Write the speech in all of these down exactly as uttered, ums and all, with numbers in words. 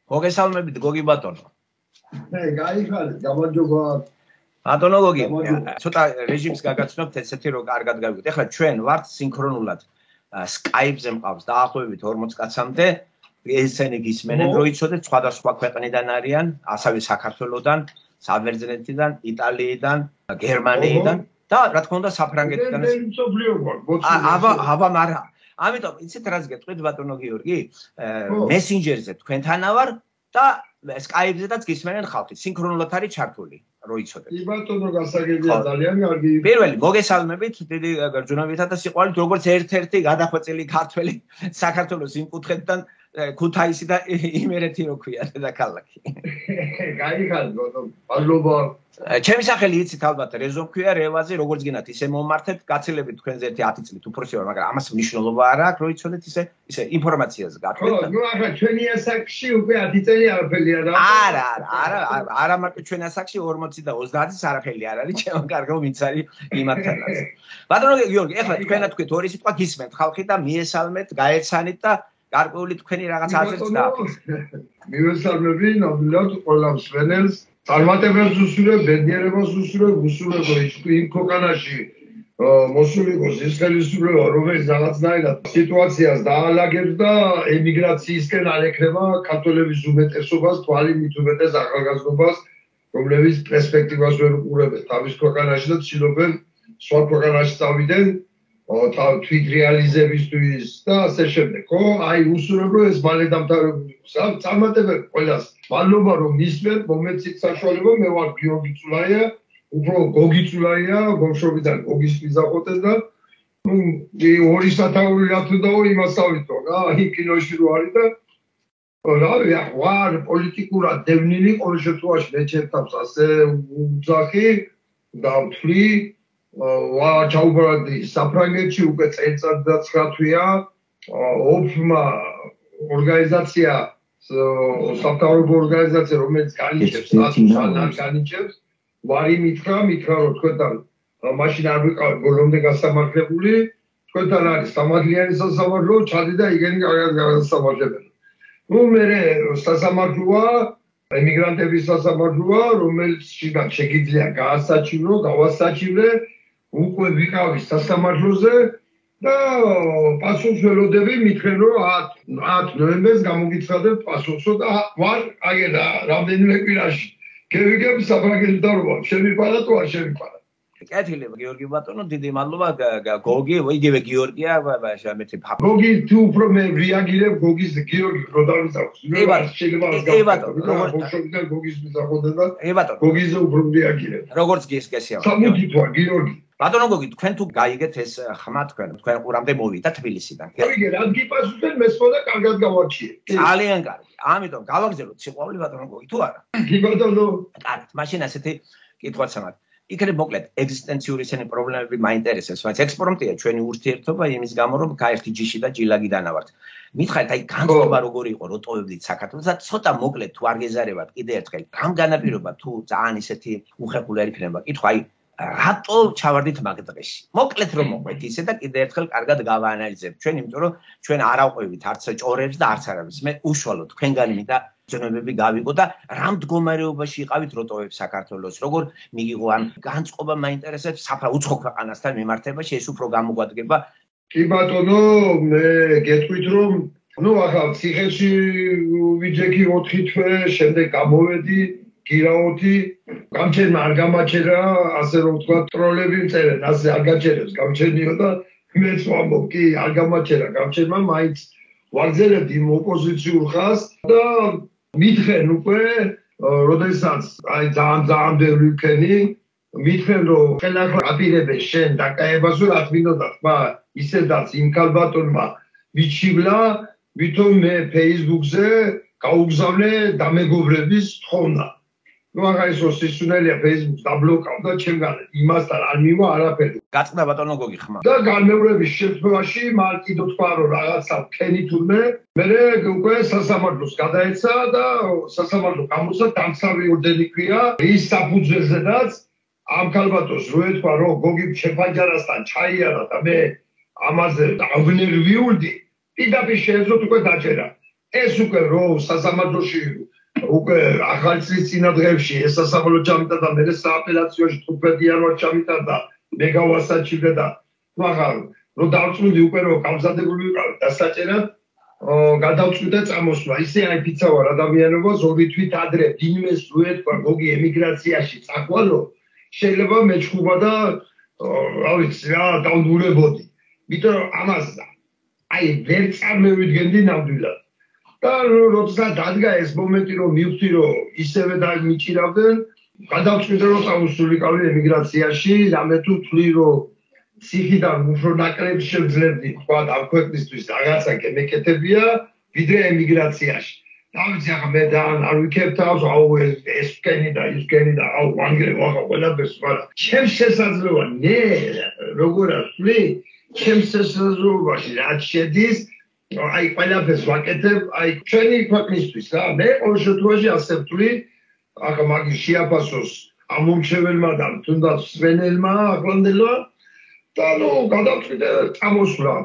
მოგესალმებით გოგი ბატონო. მე გაიხარეთ, გამარჯობა. ბატონო გოგი, ცოტა რეჟიმს გაგაცნობთ ესეთი რომ კარგად გავიგოთ. ეხლა ჩვენ ვართ სინქრონულად Skype-ზე მყავს დაახლოებით ორმოც კაცამდე. ესენი გისმენენ რო იცოდეთ სხვადასხვა ქვეყნიდან არიან, ასევე საქართველოსდან, საბერძნეთიდან, იტალიიდან, გერმანიიდან და რა თქმა უნდა საფრანგეთიდან. აბა, აბა, მაგრამ ამიტომ იცით რაც გეტყვით ბატონო გიორგი? მესენჯერზე თქვენთანა ვარ და Skype-ზედაც გისმენენ ხალხი, სინქრონულად არის ჩართული, რო იცოდეთ. კი ბატონო, გასაგებია ძალიან კარგი. პირველი მოგესალმებით, დიდი გრძნობითა და სიყვარულით, როგორც ერთ-ერთი გადახვეწილი ქართველი საქართველოს იმ კუთხედან ქუთაისი და იმერეთი რო ქვია დედაქალაქი. გაიხარეთ ბატონო, მადლობა. ჩემი სახელი იცით ალბათ რეზო ქვია, რევაზი, როგორც გინდათ ისე მომმართეთ, გაცილებით თქვენზე ერთი ათი წლით უფრო ვარ, მაგრამ ამას მნიშვნელობა არ აქვს, რო იცოდეთ ისე ისე ინფორმაციას გაგხვით. ხო, ნუ ახლა ჩვენი ასაკში უკვე ათი წელი არაფერი არ არის. არა, არა, არა, არა მარტო ჩვენ ასაკში ორმოცი და ოცდაათის არაფერი არ არის, ჩემო კარგო ვინც არის იმათანაც. ბატონო გიორგი, ეხლა თქვენა თქვით ორი სიტყვა გისმენთ ხალხი და მიესალმეთ, გაეცანით და გარკვეული თქვენი რაღაც აზრიც დააფიქრეთ. მივესალმები ნამდვილად ყველა მსმენელს. წარმატებას უსურვებ, ბედნიერებას უსურვებ, უსურვებ იმ ქვეყანაში მოსულიყოს ის ხელისუფლება, რომელიც რაღაცნაირად სიტუაციას დაალაგებს და ემიგრაციისკენ არ ეკრება ქართველების უმეტესობას, თვალი მით უმეტეს ახალგაზრდობას, რომლებიც პერსპექტივას ვერ უყურებენ თავის ქვეყანაში და ცდილობენ სხვა ქვეყანაში წავიდნენ თვით რეალიზებისთვის და ასე შემდეგ. ხო, აი უსურვებ რომ ეს მალე დამთავრებული იყოს. წარმატებები ყველას. მადლობა რომ მისმენთ, მომეცით საშუალება, მე ვარ გიორგი წულაია, უფრო გოგი წულაია, ბავშვობიდან გოგის მიზაყოთე და ნუ ორი სათაური რა თუ დაო იმას ავიტო რა, აი კინოში რო არის და რა ვარ პოლიტიკურად დევნილი ყოველ შემთხვევაში მე ჩემთავს ასე უძახი და ვთვლი ვა ჩაუბრალდი საფრანგეთში უკვე წელიწად და ცხრა თვეა ოფმა ორგანიზაცია სამთავრობო ორგანიზაცია რომელიც განიჭებს სტატუსს განიჭებს ვარი მითხრა მითხრა რომ თქვენთან მაშინ არ ვიყავ ბოლომდე გასამართლებული თქვენთან არის სამართლიანი სასამართლო ჩადი და იგენი გასამართლებელია ნუ მე სასამართლოა ემიგრანტების სასამართლოა რომელიც შეგიძლია გაასაჩივრო გავასაჩივრე უკვე ვიყავი სასამართლოზე და პასუხს ველოდები მითხრენ რომ ათ ნოემბერს გამოგიცხადებთ პასუხსო და ვარ აგედა რამდენიმე კვირაში გევიგებ საფრანგეთის დარობა შემიპარა თუ არ შემიპარა კეთილი გიორგი ბატონო დიდი მადლობა გოგი იგივე გიორგია მეთი გოგი თუ უფრო მე რეაგირებ გოგის გიორგი რო დავიწყოს შეიძლება ე ბატონო როგორ გოგის მიზაყოთე და ე ბატონო გოგიზე უფრო რეაგირებ როგორც გესკესია სამუდი თვა გიორგი ბატონო გოგი თქვენ თუ გაიგეთ ეს ხმა თქვენ თქვენ ყურამდე მოვიდა თბილისიდან გაიგე რა გიპასუხეთ მესმოდა კარგად გავარჩიე ძალიან კარგი ამიტომ გავაგზავნოთ სიყვარული ბატონო გოგი თუ არა კი ბატონო კარგი მაშინ ასეთი კითხვაც ამათ იქნებ მოკლედ ეგზისტენციური ესენი პრობლემები მაინტერესებს, բայց ექსპრომტია ჩვენი ურთიერთობა იმის გამო, რომ გაერთი ჯიში და ჯილაგიდან ავართ. მითხარით, აი განწყობა როგორი იყო, რო ტოვებდით საქართველოს და ცოტა მოკლედ თუ არ გეზარებათ კიდე ერთხელ, რამ განაპირობა თუ ძალიან ისეთი უხერხული არ იქნება, კითხვა, აი რატო ჩავარდით მაგ დღეში? მოკლედ რომ მოყვეთ ისე და კიდე ერთხელ კარგად გავაანალიზებთ ჩვენ, იმიტომ რომ ჩვენ არ ავყვევით არც ჭორებს და არც არავის. მე უშუალოდ თქვენგანი მინდა ზონებები გავიგო და რამ მდგომარეობაში იყავით როტოებს საქართველოს როგორ მიგიღო ან განწყობა მაინტერესებს საფრა უცხო ქვეყანასთან მიმართებაში ეს უფრო გამოგვადგება კი ბატონო მე გეტყვით რომ ნუ ახლა ციხეში ვიჯექი ოთხი თვე შემდეგ გამოვედი გირაოთი გამჩერმა არ გამაჩერა ასე რომ თქვა ტროლები მწერენ ასე არ გაჩერებს გამჩერნიო და მეც ვამბობ კი არ გამაჩერა გამჩერმა მაინც ვაგზელებდი იმ ოპოზიციურ ხაზს და მითხრენ უკვე, როდესაც აი ძალიან ძალიან ბევრი ვქენი, მითხრენ რომ ხელახლა აპირებენ შენ დაკაებას რომ რა თმინდოდა ხმა ისედაც იმ ქალბატონმა მიჩივლა, ვითომ მე Facebook-ზე გაუგზავნე დამეგობრების თხოვნა. ნუ აღარ ის სისუნელია Facebook-ს დაბლოკავდა ჩემგან იმასთან არ მივა არაფერი. გაწყდა ბატონო გოგი ხმა. და განმეორების შემთხვევაში მან კიდო თქვა რომ რაღაცა ფენი თურმე მე უკვე სასამართლოს გადაეცა და სასამართლო გამოსცა დამცავი ორდენი ქვია ის საფუძველზედაც ამ ქალბატონს რო ეთქვა რომ გოგი შეფანჯარასთან ჩაიარა და მე ამაზე ავნერვიულდი პირდაპირ შეეძლოთ უკვე დაჭერა ეს უკვე რო სასამართლოში უკვე ახალი წლის წინადღებში ეს სასამართლო ჩამიტა და მე სააპელაციოში თხუთმეტი იანვარს ჩამიტარდა მე გავასაჩივრე და ახლა რო დავწვიდი უკვე რო გამზადებული ვიყავ დასაჭერად გადავწვიდა წამოსვლა ისე აი ფიცა ვარ ადამიანობას ორი თვით ადრე ვინმეს რო ეთქვა გოგი ემიგრაციაში წახვალო შეიძლება მეჩხუბა და რა ვიცი რა დავდურებოდი იმიტომ რომ ამას აი ვერ წარმოვიდგენდი ნამდვილად და როცა დადგა ეს მომენტი რომ მივხვდი რომ ისევე დამიჭირავდნენ გადავწვიდა რომ წავსულიყავი ემიგრაციაში რამე თუ თვლი რომ ციხიდან უფრო ნაკლებს შევძლებდი თქვა ამ ქვეყნისთვის რაღაცა მეკეთებია ვიდრე ემიგრაციაში და ვიცი ახლა მე და არ ვიქებ თავს აუ ეს კენი და ის კენი და აუ ვანგრე ვახა ყველაფერს მაგრამ ჩემს შესაძლოა ნე როგორ ასვლი ჩემს შესაძლოებაში რაც შედის აი ყველაფერს ვაკეთებ აი ჩვენი ქვეყნისთვის რა მე ყოველ შემთხვევაში ასე ვთვლი ახლა მაგის შეაფასოს ამ მომჩეველმა და თუნდაც სვენელმა ახლანდელმა და ნუ გადავწვიდე წამოსვლა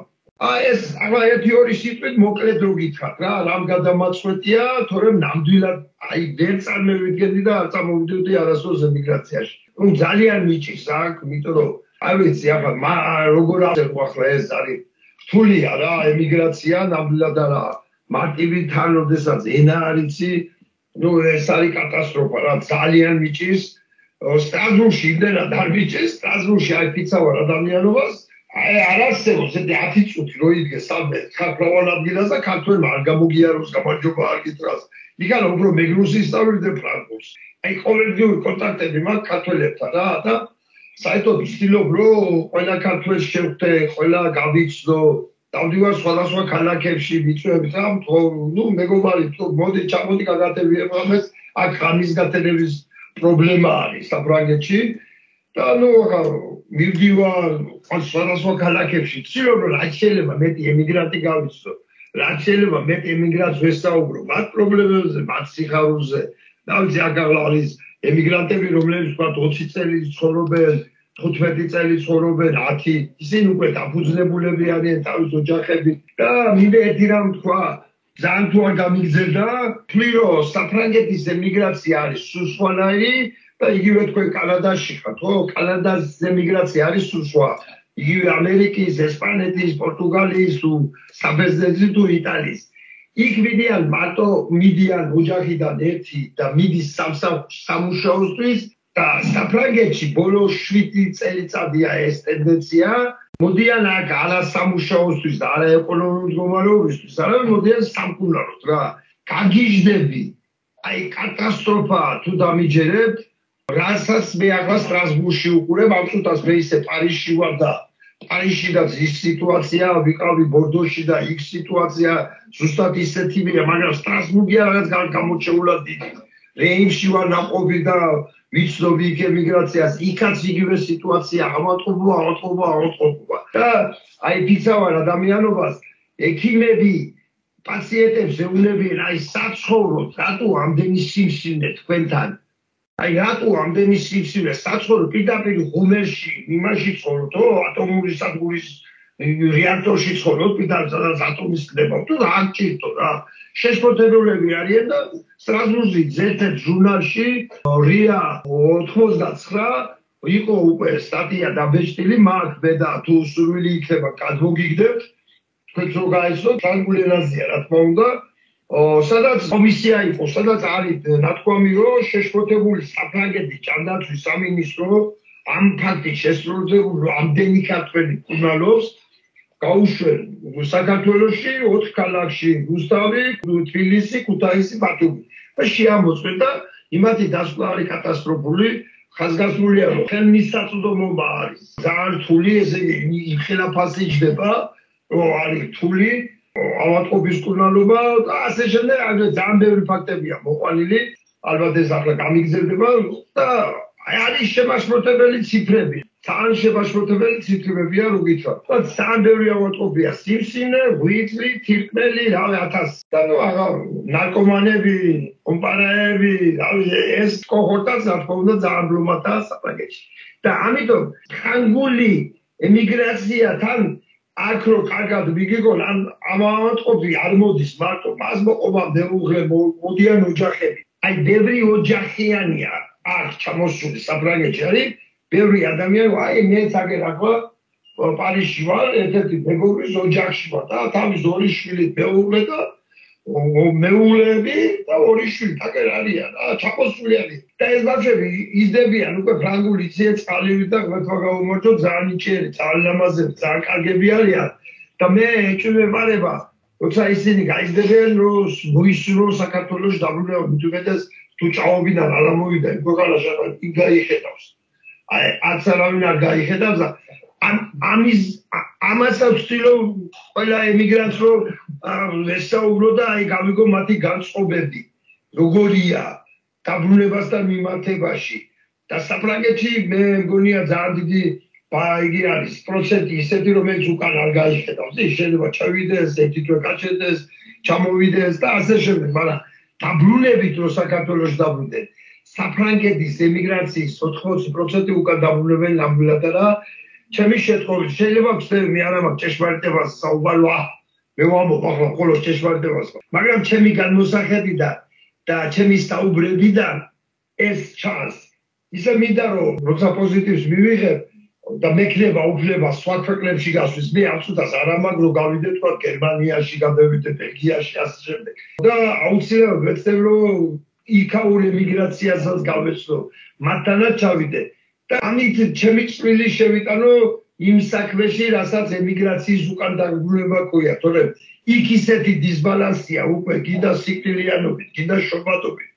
აი ეს ახლა ერთი ორი სიტყვით მოკლედ რო გითხრათ რა რამ გადამაწყვეტია თორემ ნამდვილად აი ვერ წარმოვიდგენდი და არ წამოვიდოდი არასდროს ემიგრაციაში ნუ ძალიან მიჭირს აქ იმიტომ რომ არ ვიცი ახლა როგორ აღწერო ახლა ეს არის რთულია რა ემიგრაცია ნამდვილად არა მარტივი თან როდესაც ენა არ იცი ნუ ეს არის კატასტროფა რა ძალიან მიჭირს სტრასბურგში იმდენად არ მიჭირს სტრასბურგში აი ფიცა ვარ ადამიანობას აი არ არსებობს ეს ათი წუთი რო იდგე სამე ხალხოვან ადგილას და ქართველმა არ გამოგიაროს გამარჯობა არ გითხრას იქანა უფრო მეგრუსი ისწავლე ფრანგულს აი ყოველდღიური კონტაქტები მაქვს ქართველებთან რა და საერთოდ ვცდილობ რომ ყველა ქართველს შევხვდე ყველა გავიცნო დავდივარ სხვადასხვა ქალაქებში ვიწვევთ რა ნუ მეგობარი თუ მოდი ჩამოდი გაგატებიებ ამას აქ ხამის გატენების პრობლემა არის საფრანგეთში და ნუ მივდივარ სხვადასხვა ქალაქებში ვცდილობ რომ რაც შეიძლება მეტი ემიგრანტი გავიცნო რაც შეიძლება მეტი ემიგრანტს ვესაუბრო მათ პრობლემებზე მათ სიხარულზე და ვიცი აქ არის ემიგრანტები რომლებიც თქვა ოცი წელი ცხოვრობენ თხუთმეტი წელი ცხოვრობენ ათი ისინი უკვე დაფუძნებულები არიან თავის ოჯახები და მინდა ერთი რამ თქვა ძალიან თუ არ გამიგზელდა თვლი რომ საფრანგეთის ემიგრაცია არის სუსვანაირი და იგივე თქვენ კანადაში ხართ ხო კანადას ემიგრაცია არის სუსვა იგივე ამერიკის ესპანეთის პორტუგალიის თუ საბერძნეთის თუ იტალიის იქ მიდიან მარტო მიდიან ოჯახიდან ერთი და მიდის სამუშაოსთვის და საფრანგეთში ბოლო შვიდი წელიწადია ეს ტენდენცია მოდიან აქ არა სამუშაოსთვის და არა ეკონომიკური მდგომარეობისთვის არამედ მოდიან სამკურნალოდ რა გაგიჟდები აი კატასტროფაა თუ დამიჯერებთ რასაც მე ახლა სტრასბურგში უყურებ ამ წუთას მე ისე პარიზში ვარ და პარიზშიდაც ის სიტუაცია ვიყავი ბორდოში და იქ სიტუაცია ზუსტად ისეთივეა მაგრამ სტრასბურგი რაღაც გამოჩეულად დიდი რეიმში ვარ ნაყოფი და ვიცნობი იქ ემიგრაციას იქაც იგივე სიტუაცია ავატყობა ავატყობა ავატყობა და აი ფიცა ვარ ადამიანობას ექიმები პაციენტებს ეუბნებიან აი საცხოვროთ რატო ამდენი სიმსივნე თქვენთან აი რატო ამდენი სიმსივნე საცხოვრო პირდაპირ ღუმელში იმაში ცხოვრობ ატომური სადგურის რეაქტორში ცხოვრობ პირდაპირ სადაც ატომის ხდება თუ რა გჭირდო რა შეშფოთებულები არიან და სტრასბურგში ზეთეთ ჟურნალში რია ოთხმოცდაცხრა იყო უკვე სტატია დაბეჭდილი მაგ ბედა თუ სურვილი იქნება გადმოგიგდებთ თქვენც რო გაიცნოთ ფრანგულ ენაზეა რა თქმა უნდა სადაც კომისია იყო სადაც არის ნათქვამი რომ შეშფოთებული საფრანგეთის ჭანდაცვის სამინისტრო ამ ფაქტის შესრულებულ რომ ამდენი ქართველი კურნალობს გაუშვენ საქართველოში ოთხ ქალაქში რუსთავი, თბილისი, ქუთაისი, ბათუმი და შეამოწმენ და იმათი დასკვნა არის კატასტროფული ხაზგასმულია რომ ხელმისაწვდომობა არის ძალიან რთული ესე იგი იხილაფასი ჯდება რომ არის რთული ავატყობის კურნალობა და ასე შემდეგ ძალიან ბევრი ფაქტებია მოყვანილი ალბათ ეს ახლა გამიგზელდება და აი არის შემაშფოთებელი ციფრები ძალიან შემაშფოთებელი ციფრებია რო გითხრათ და ძალიან ბევრი ავატყობია სიმსივნე ღვიძლი თირკმელი რავი ათასი და ნუ აღარ ნარკომანები კომპანიები რავი ეს კოჰორტაც რა თქმა უნდა ძალიან ბლომადაა საფრანგეთში და ამიტომ ფრანგული ემიგრაციათან აქ რო კარგად მიგიგონ ამ ამავატყოფი არ მოდის მარტო პასმოყობა მეუღლე მოდიან ოჯახები აი ბევრი ოჯახიანია აქ ჩამოსული საფრანგეთში არის ბევრი ადამიანი აი მე თაგერ ახლა პარიზში ვარ ერთ-ერთი მეგობრის ოჯახში ვარ და თავის ორი შვილი მეუღლე და მეუღლეები და ორი შვილი თაგერ არიან რა ჩამოსული არის და ეს ბავშვები იზრდებიან უკვე ფრანგული იციან წყალივით და ღვთვა გაუმორჩო ძალიან იჭიერი ძალიან ლამაზები ძალიან კარგები არიან და მე ეჭვმეპარება როცა ისინი გაიზრდებიან რომ მოისურვო საქართველოს დაბრუნება მithumetes თუ ჭაობიდან არ ამოვიდა იმ ქვეყანაში იქ გაიხედავს აი არც არავინ არ გაიხედავს და ამის ამასაც ვცდილობ ყველა ემიგრანტს რომ ესაუბრო და აი გავიგო მათი განწყობები როგორია დაბრუნებასთან მიმართებაში და საფრანგეთში მე მგონია ძალიან დიდი იგი არის პროცენტი ისეთი რომელიც უკან არ გაიხედავს ის შეიძლება ჩავიდეს ერთი თვე გაჩერდეს ჩამოვიდეს და ასე შემდეგ მაგრამ დაბრუნებით რომ საქართველოს დაბრუნდნენ საფრანგეთის ემიგრაციის ოთხმოცი პროცენტი უკან დაბრუნებენ ნამდვილად რა ჩემი შემთხვევით შეიძლება ვცდები მე არ ამაქვს ჭეშმარიტებას საუბაროა მე ვამბობ ახლა მხოლოდ ჭეშმარიტებას მაგრამ ჩემი განმოსახედიდან და ჩემი საუბრებიდან ეს ჩანს ისე მინდა რომ როცა პოზიტივს მივიღებ და მექნება უფლება სხვა ქვეყნებში გასვლის მე აბსოლუტად არ ამაგ რომ გავიდე თქვა გერმანიაში გადავიდე ბელგიაში ასე შემდეგ და აუცილებლად ვეცდებ რომ იქაურ ემიგრაციასაც გავეცნო მათთანაც ჩავიდე და ამით ჩემი წვლილი შევიტანო იმ საქმეში რასაც ემიგრაციის უკან დაბრუნება ყויה თორემ იქ ისეთი დისბალანსია უკვე გიდა სიკვდილიანობით გიდა შობადობით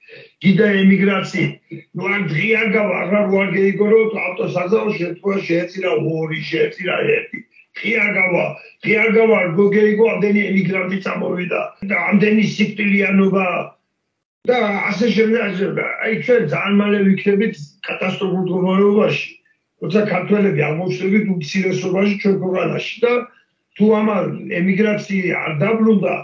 გიდა ემიგრაციით ნუ არ დღიან გავა აღარ ვარ გეიგო რომ ავტოსაზაო შემთხვევაში შეეწირა ორი შეეწირა ერთი დღიან გავა დღიან გავა გოგეიგო ამდენი ემიგრანტი წამოვიდა და ამდენი სიკვდილიანობა და ასე შემდეგ აი ჩვენ ძალიან მალე ვიქნებით კატასტროფულ მდგომარეობაში როცა ქართველები აღმოჩნდებით უმცირესობაში ჩვენ ქვეყანაში და თუ ამან ემიგრაცია არ დაბრუნდა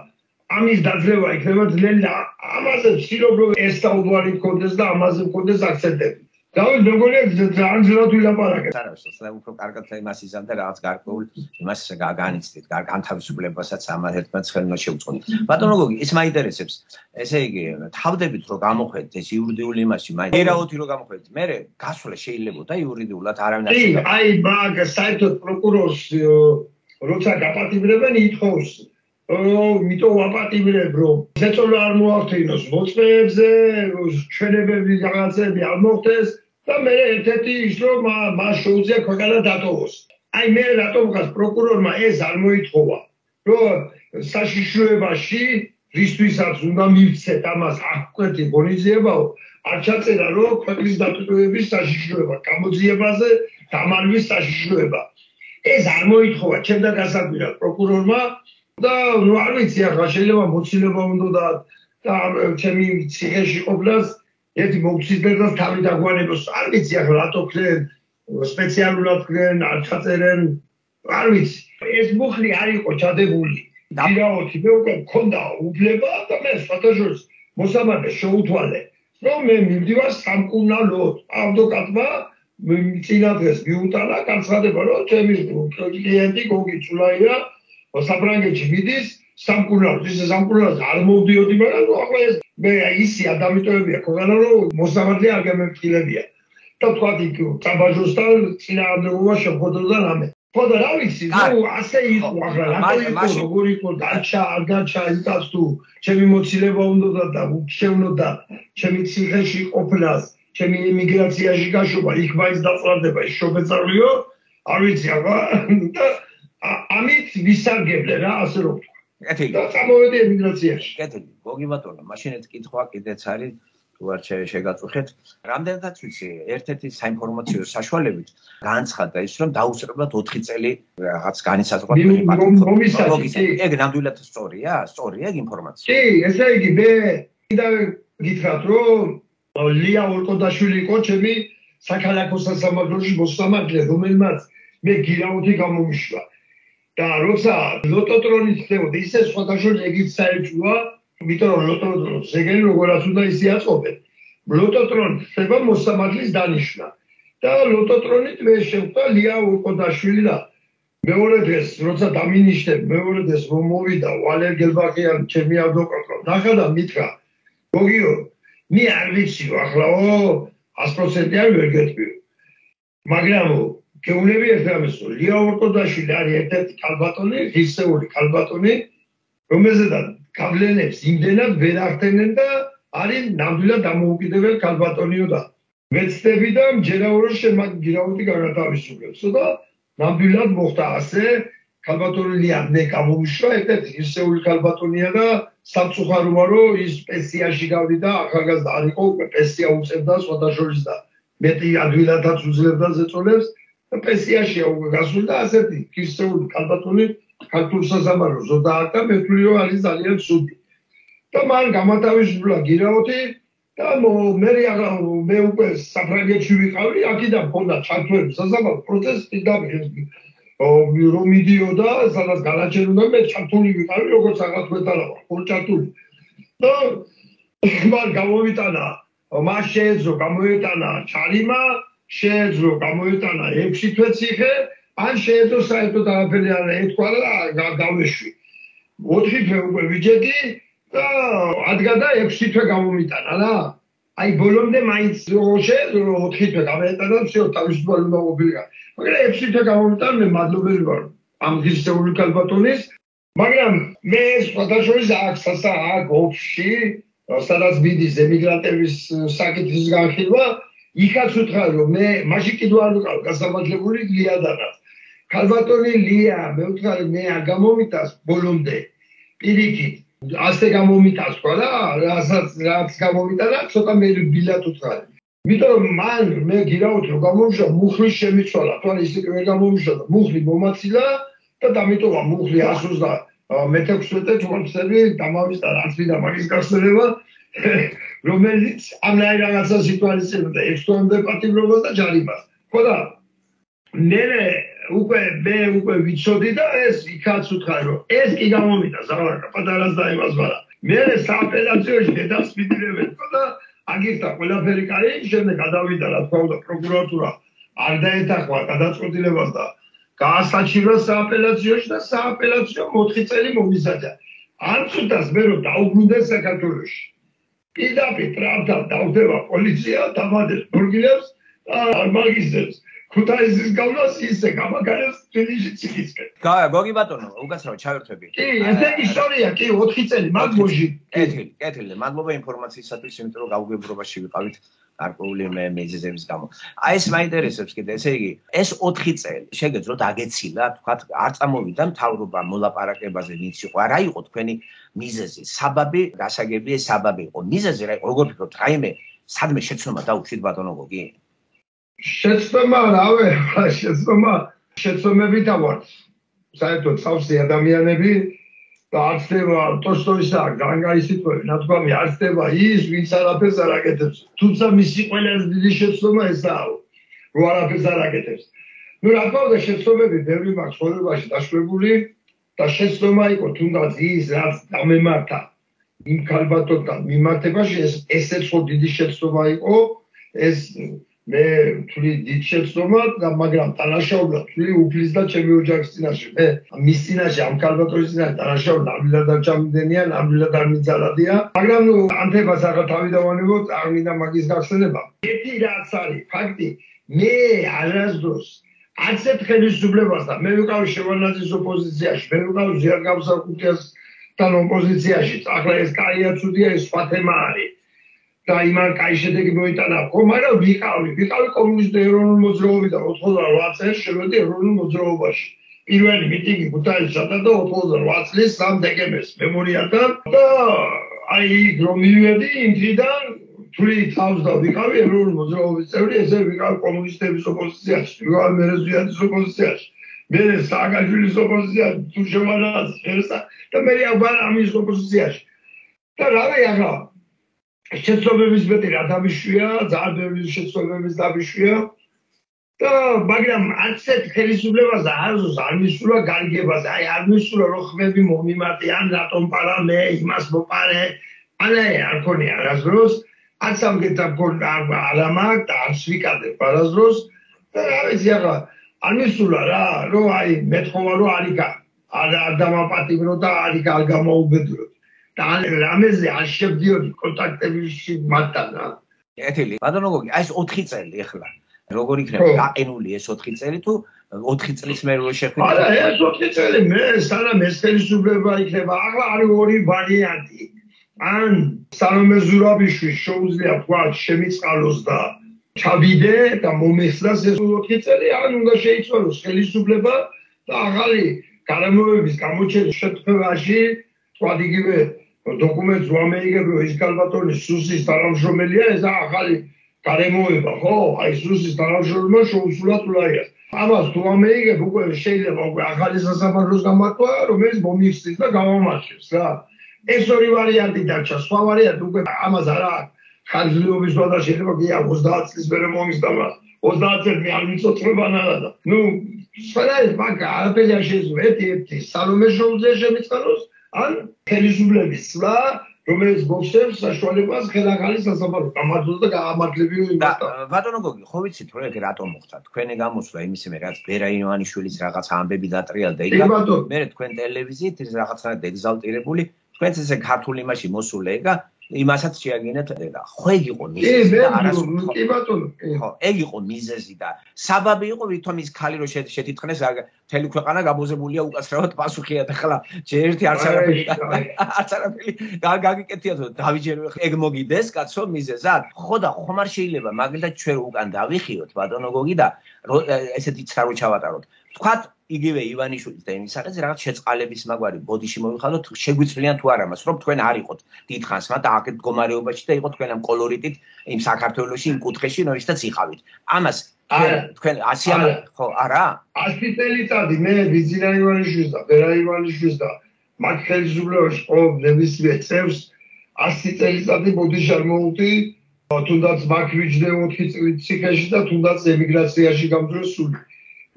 ამის დაძლევა იქნება ძნელი ამაზე ვცდილობ რომ ეს საუბარი მქონდეს და ამაზე მქონდეს აქცენტები დავით მეგონია ძალიან ძნელად ვილაპარაკეთ არა შეიძლება უფრო კარგად იმას იზამდა რაღაც გარკვეულ იმას განიცდით განთავისუფლებასაც ამათ ერთმანეთს ხელმო შეუწყოთ ბატონო გოგი ის მაინტერესებს ესე იგი თავდებით რომ გამოხედეთ ეს იურიდიული იმაში მაინც ერაოთი რომ გამოხედეთ მე გასვლა შეიძლებოდა იურიდიულად არავინ არ შეიძლება აი მაგ საერთოდ პროკურორს როცა გაპატიმრებენ ითხოვს მიტო ვაპატიმრებ რომ ზეწოლა არ მოახდინოს მოწმეებზე ჩვენებები რაღაცები არ მოხდეს და მე ერთ-ერთი ის რომ მას შეუძლია ქვეყანა დატოვოს აი მე რატომ გას პროკურორმა ეს არ მოითხოვა რომ საშიშროებაში რისთვისაც უნდა მივცეთ ამას აღკვეთი ღონისძიებაო არ ჩაწერა რომ ქვეყნის დატოვების საშიშროება გამოძიებაზე დამარვის საშიშროება ეს არ მოითხოვა ჩემთან გასაკვირად პროკურორმა და ნუ არ ვიცი ახლა შეიძლება მოცილება უნდა და ჩემი ციხეში ყოფნას ერთი მოგციდებას თავი დაგვანებოს არ ვიცი ახლა რატო ქნენ სპეციალურად ქნენ არ ჩაწერენ არ ვიცი ეს მუხლი არ იყო ჩადებული დირაოთი მე უკვე მქონდა უფლება და მე სხვადასხვა მოსამართლე შეუთვალე რომ მე მივდივარ სამკურნალოდ ადვოკატმა წინა დღეს მიუტანა განცხადება რომ ჩემი კლიენტი გოგი ცულაია საფრანგეთში მიდის სამკურნალოდ ისე სამკურნალოდ არ მოვდიოდი მაგრამ ახლა ეს მე ისი ადამიანებია ქვეყანა რომ მოსამართლე არ გამეფრთხილებია და თქვა იქ წაბაჟოსთან წინააღმდეგობა შეხვედროდა რამე ხო და რა ვიცი ნუ ასე იყო ახლა რატო იყო როგორ იყო დაჩა არ დაჩა იტას თუ ჩემი მოცილება უნდა და შევნოდა ჩემი ციხეში ყოფნას ჩემი ემიგრაციაში გაშობა იქ მაინც დაწვარდება ის შობეწარლიო არ ვიცი ახლა და ამით ვისარგებლე რა ასე რომ კეთილი და წამოვედი ემიგრაციაში კეთილი გოგი ბატონო მაშინაც კითხვა კიდეც არის თუ არ შეგაწუხეთ რამდენადაც ვიცი ერთ-ერთი საინფორმაციო საშუალებით განცხადა ის რომ დაუსწრებლად ოთხი წელი რაღაც განისაზღვრა მომისაჯი ეგ ნამდვილად სწორია სწორია ეგ ინფორმაცია კი ესე იგი მე კიდე გითხრათ რომ ლია ორკოდაშვილი იყო ჩემი საქალაქო სასამართლოში მოსამართლე რომელმაც მე გირაოთი გამომიშვა და როცა ლოტოტრონი ხდებოდა ისე სხვადასხვა ეგიც საერთოა იმიტომ რომ ლოტოტრონს ეგენი როგორაც უნდა ისე აწყობენ ლოტოტრონი ხდება მოსამართლის დანიშვნა და ლოტოტრონით მე შევხვდა ლია ორკოდაშვილი და მეორე დღეს როცა დამინიშნებ, მეორე დღეს რომ მოვიდა ვალერ გელბახიანი ჩემი ადვოკატო, ნახა და მითხრა, გოგიო, მე არ ვიციო ახლაო ას პროცენტი არ ვერ გეტყვი. მაგრამ გეუბნები ერთ რამეს, ლია ორტოდაშვილი არის ერთ-ერთი ქალბატონი, ღირსეული ქალბატონი, რომელზედაც გავლენებს იმდენად ვერ ახდენენ და არის ნამდვილად დამოუკიდებელ ქალბატონიო და მეცდები და მჯერაო რომ შენ მაგ გირავითი განათავისუფლებსო და ნამდვილად მოხდა ასე, ქალბატონი ლია მე გამომიშვა, ერთ-ერთი ღირსეული ქალბატონია და სამწუხაროა რომ ის პენსიაში გავიდა, ახალგაზრდა არ იყო, უკვე პენსია უწევდა სხვადასხვა და მეტი ადვილადაც უძლებდა ზეწოლებს და პენსიაშია უკვე გასული და ასეთი ღირსეული ქალბატონი ქართულ საზამაროს ზოდააკდა, მე ვთვლი რომ არის ძალიან ცუდი. და მან გამათავისუფლა გირავოთი და მე მე უკვე საფრანგეთში ვიყავი, აქედან მქონდა ჩართვები საზამარო პროცესი და რომ მიდიოდა, სადაც განაჩენოდა მე ჩართული ვიყავი, როგორც რაღაც მეტალავარ, ხო ჩართული. და მან გამოვიტანა, მას შეეძლო გამოეტანა ჩარიმა, შეეძლო გამოეტანა ექვსი თვე ციხე, ან შეეძლო საერთოდ არაფერი არ ეთქვა და გავეშვი. ოთხი თვე უკვე ვიჯედი და ადგა და ექვსი თვე გამომიტანა რა. აი ბოლომდე მაინც შეეძლო ოთხი თვე გამოეტანა და всё თავისუფალი უნდა ყოფილიყო. მაგრამ ექვსი თვე გამომიტანა მე მადლობელი ვარ ამ ღირსეული ქალბატონის, მაგრამ მე სხვადასხვა აქ სასა აქ ოფში სადაც მიდის ემიგრანტების საკითხის განხილვა, იქაც უთხრა რომ მე მაშინ კიდევ არ ვიყავ გასამართლებული ლიადანაც. ქალბატონი ლია, მე ვთქვი მე არ გამომიტას ბოლომდე. პირიქით, ასე გამომიტას თქვა და რასაც რაც გამომიტანა, ცოტა მე ბილად უთხრა. იმიტომ მან მე გირავთ რომ გამომიშვა მუხლის შემიცვალა, თორე ისე ვერ გამომიშვა და მუხლი მომაცილა და დამიტოვა მუხლი ას მეთექვსმეტე თვალწები დამავიდა არც ვიდა მაგის გასწრება, რომელიც ამნაირ რაღაცა სიტუაციებდა ექვს თვემდე პატიმრობას და ჯარიმას. ხო და მე უკვე მე უკვე ვიცოდი და ეს იქაც უთხრა რომ ეს კი გამომიდა ზავარკა პატარას და იმას ვარა. მე სააპელაციოში დედასმიდილებენ და აგირდა ყველაფერი კარი, შემდეგ გადავიდა რა თქვა და პროკურატურა არ დაეთახვა გადაწყვეტილებას და გაასაჩივრა სააპელაციოში და სააპელაციო ოთხი წელი მომისაჯა. არ ცუდას მე რომ დაუბრუნდა საქართველოში. პირდაპირ ტრამპთან დავდება პოლიცია, დამადებს ბურგილებს და არ მაგისებს. ქუთაისის გავლას ისე გამაგარებს თბილისში ციხისკენ. გაა, გოგი ბატონო, უკაცრავად ჩავერთვები. კი, ესეთი ისტორია, კი, ოთხი წელი, მაგ მოჟი. კეთილი, კეთილი. მადლობა ინფორმაციისათვის, იმიტომ რომ გაუგებრობაში ვიყავით გარკვეული მიზეზების გამო. აი ეს მაინტერესებს კიდე, ესე იგი, ეს ოთხი წელი შეგეძლოთ აგეცილა, თქვათ, არ წამოვიდა მთავრობა მოლაპარაკებაზე, ვინც იყო, რა იყო თქვენი მიზეზი, საბაბი, გასაგებია საბაბი იყო. მიზეზი რა იყო, როგორ ფიქრობთ, რაიმე სადმე შეცდომა დაუშვით ბატონო გოგი? შეცდომა რავე, შეცდომა, შეცდომებით ავართ. საერთოდ სავსე ადამიანები და არ ხდება ტოლსტოისა განგაისიტყვები, ნათქვამი არ ხდება ის, ვინც არაფერს არ აკეთებს. თუმცა მისი ყველაზე დიდი შეცდომა ესაა, რომ არაფერს არ აკეთებს. ნუ რა თქმა უნდა, შეცდომები ბევრი მაქვს ცხოვრებაში დაშვებული და შეცდომა იყო თუნდაც ის, რაც დამემართა იმ ქალბატონთან მიმართებაში, ეს ესეც ხო დიდი შეცდომა იყო, ეს მე ვთვლი დიდ შეცდომა და მაგრამ დანაშაულად ვთვლი უფლის და ჩემი ოჯახის წინაშე. მე მის წინაშე ამ ქალბატონის წინაშე დანაშაულად ნამდვილად არ ჩამიდენია, ნამდვილად არ მიძალადია. მაგრამ ნუ ანთებას ახლა თავი დავანებოთ, არ მინდა მაგის გახსენება. ერთი რაც არის ფაქტი, მე არასდროს არც ერთ ხელისუფლებასთან მე ვიყავი შევარნაძის ოპოზიციაში, მე ვიყავი ზიარ გამსახურდიასთან ოპოზიციაში. ახლა ეს კაია ცუდია, ეს სხვა თემა არის. და იმან კაი შედეგი მოიტანა, ხო, მაგრამ ვიყავი, ვიყავი კომუნისტური ეროვნული მოძრაობიდან ოთხმოცდაოთხ წელს შევედი ეროვნულ მოძრაობაში. პირველი მიტინგი ქუთაისშია და ოთხმოცდაოთხ წლის სამ დეკემბერს მემორიალთან და აი იქ რომ მივედი იმ დღიდან თვლი თავს და ვიყავი ეროვნული მოძრაობის წევრი, ესე ვიყავი კომუნისტების ოპოზიციაში, ვიყავი მერეზვიანის ოპოზიციაში, მე სააკაშვილის ოპოზიციაში, თუ შევარნაძის და მე აღარ ამის ოპოზიციაში. და რავი ახლა შეცდომების მეტი რა დამიშვია, ძალიან ბევრი შეცდომების დამიშვია და მაგრამ არც ერთ ხელისუფლებას არ არ მისულა გარიგებაზე, აი არ მისულა რომ ხმები მომიმარტე, ან რატომ პარა მე იმას მოპარე, ანუ არ ქონია არასდროს, არც ამგეთა არ ამაკ და არც ვიკადებ არასდროს და რა ვიცი ახლა არ მისულა რა, რომ აი მეთხოვა რომ არიკა არ დამაპატიმრო და არიკა არ გამოუბედუროთ. და რამეზე არ შევდიოდი კონტაქტებში მათთან რა. კეთილი. ბატონო გოგი, აი ეს ოთხი წელი ახლა. როგორ იქნება გაყინული ეს ოთხი წელი თუ ოთხი წლის მერე რო შეხვიდეთ? არა, ეს ოთხი წელი მე სანამ ეს ხელისუფლება იქნება, ახლა არის ორი ვარიანტი. ან სალომე ზურაბიშვილს შეუძლია თქვა შემიწყალოს და ჩავიდე და მომეხსნას ეს ოთხი წელი, ან უნდა შეიცვალოს ხელისუფლება და ახალი გარემოების გამოჩენის შემთხვევაში თქვა იგივე დოკუმენტს ვამეიგებო ის კალბატონის სუსის თანამშრომელია ეს ახალი გარემოება, ხო? აი სუსის თანამშრომელმა შეუსრულა თულაიას. ამას თუ ამეიგებ უკვე შეიძლება უკვე ახალი სასამართლოს გამართვა, რომელიც მომიხსნის და გამომარჩევს რა. ეს ორი ვარიანტი დარჩა, სხვა ვარიანტი უკვე ამას არა აქვს. ხანგრძლივობის ვადა შეიძლება კი ოცდაათ წლის მერე მომიხსნა, ოცდაათ წელი არ მიწოწმებანალა და. ნუ სხვადასხვა მაგა არაფერი არ შეიძლება ერთი-ერთი სალომე შეუძლია შემიწყალოს, ან ხელისუფლების სვლა რომელიც მოხსებს საშუალებას ხელახალი სასამართლო გამართოს და გაამართლებიო იმასთან. ბატონო გოგი, ხო ვიცით რომ ეგ რატომ მოხდა? თქვენი გამოსვლა იმისიმე რაც ბერა ივანიშვილის რაღაც ამბები დატრიალდა იქ. მე თქვენ ტელევიზიით ის რაღაცა ეგზალტირებული, თქვენც ესე ქართული იმაში მოსულე ეგა იმასაც შეაგინეთ და ხო ეგ იყო მიზეზი და არასდროს კი ბატონო ხო ეგ იყო მიზეზი და საბაბი იყო ვითომ ის ქალი რო შეთითხნეს მთელი ქვეყანა გაბოზებულია უკაცრავად პასუხია და ხლა ჯერერთი არც არაფერი არც არაფერი გაგიკეთიათ დავიჯერო ეგ მოგიდეს კაცო მიზეზად ხო და ხომ არ შეიძლება მაგალითად ჩვენ უკან დავიხიოთ ბატონო გოგი და ესეთი ცა რო ჩავატაროთ თქვათ იგივე ივანიშვილის და იმის საკითხზე რაღაც შეწყალების მაგვარი ბოდიში მოვიხადოთ შეგვიძლიან თუ არა მას რომ თქვენ არ იყოთ დიდხანს მათ აქეთ მდგომარეობაში და იყოთ თქვენ ამ კოლორიტით იმ საქართველოში იმ კუთხეში რომელშიც იყავით ამას თქვენ ასი ხო არა ასი წელიწადი მე ბიძინა ივანიშვილის და ბერა ივანიშვილის და მათ ხელისუფლებაში ყოველ ნებისმიერ წევს ასი წელიწადი ბოდიში არ მოვუწი თუნდაც მაგ ვიჯდე ოთხი წლის ციხეში და თუნდაც ემიგრაციაში გამძროსული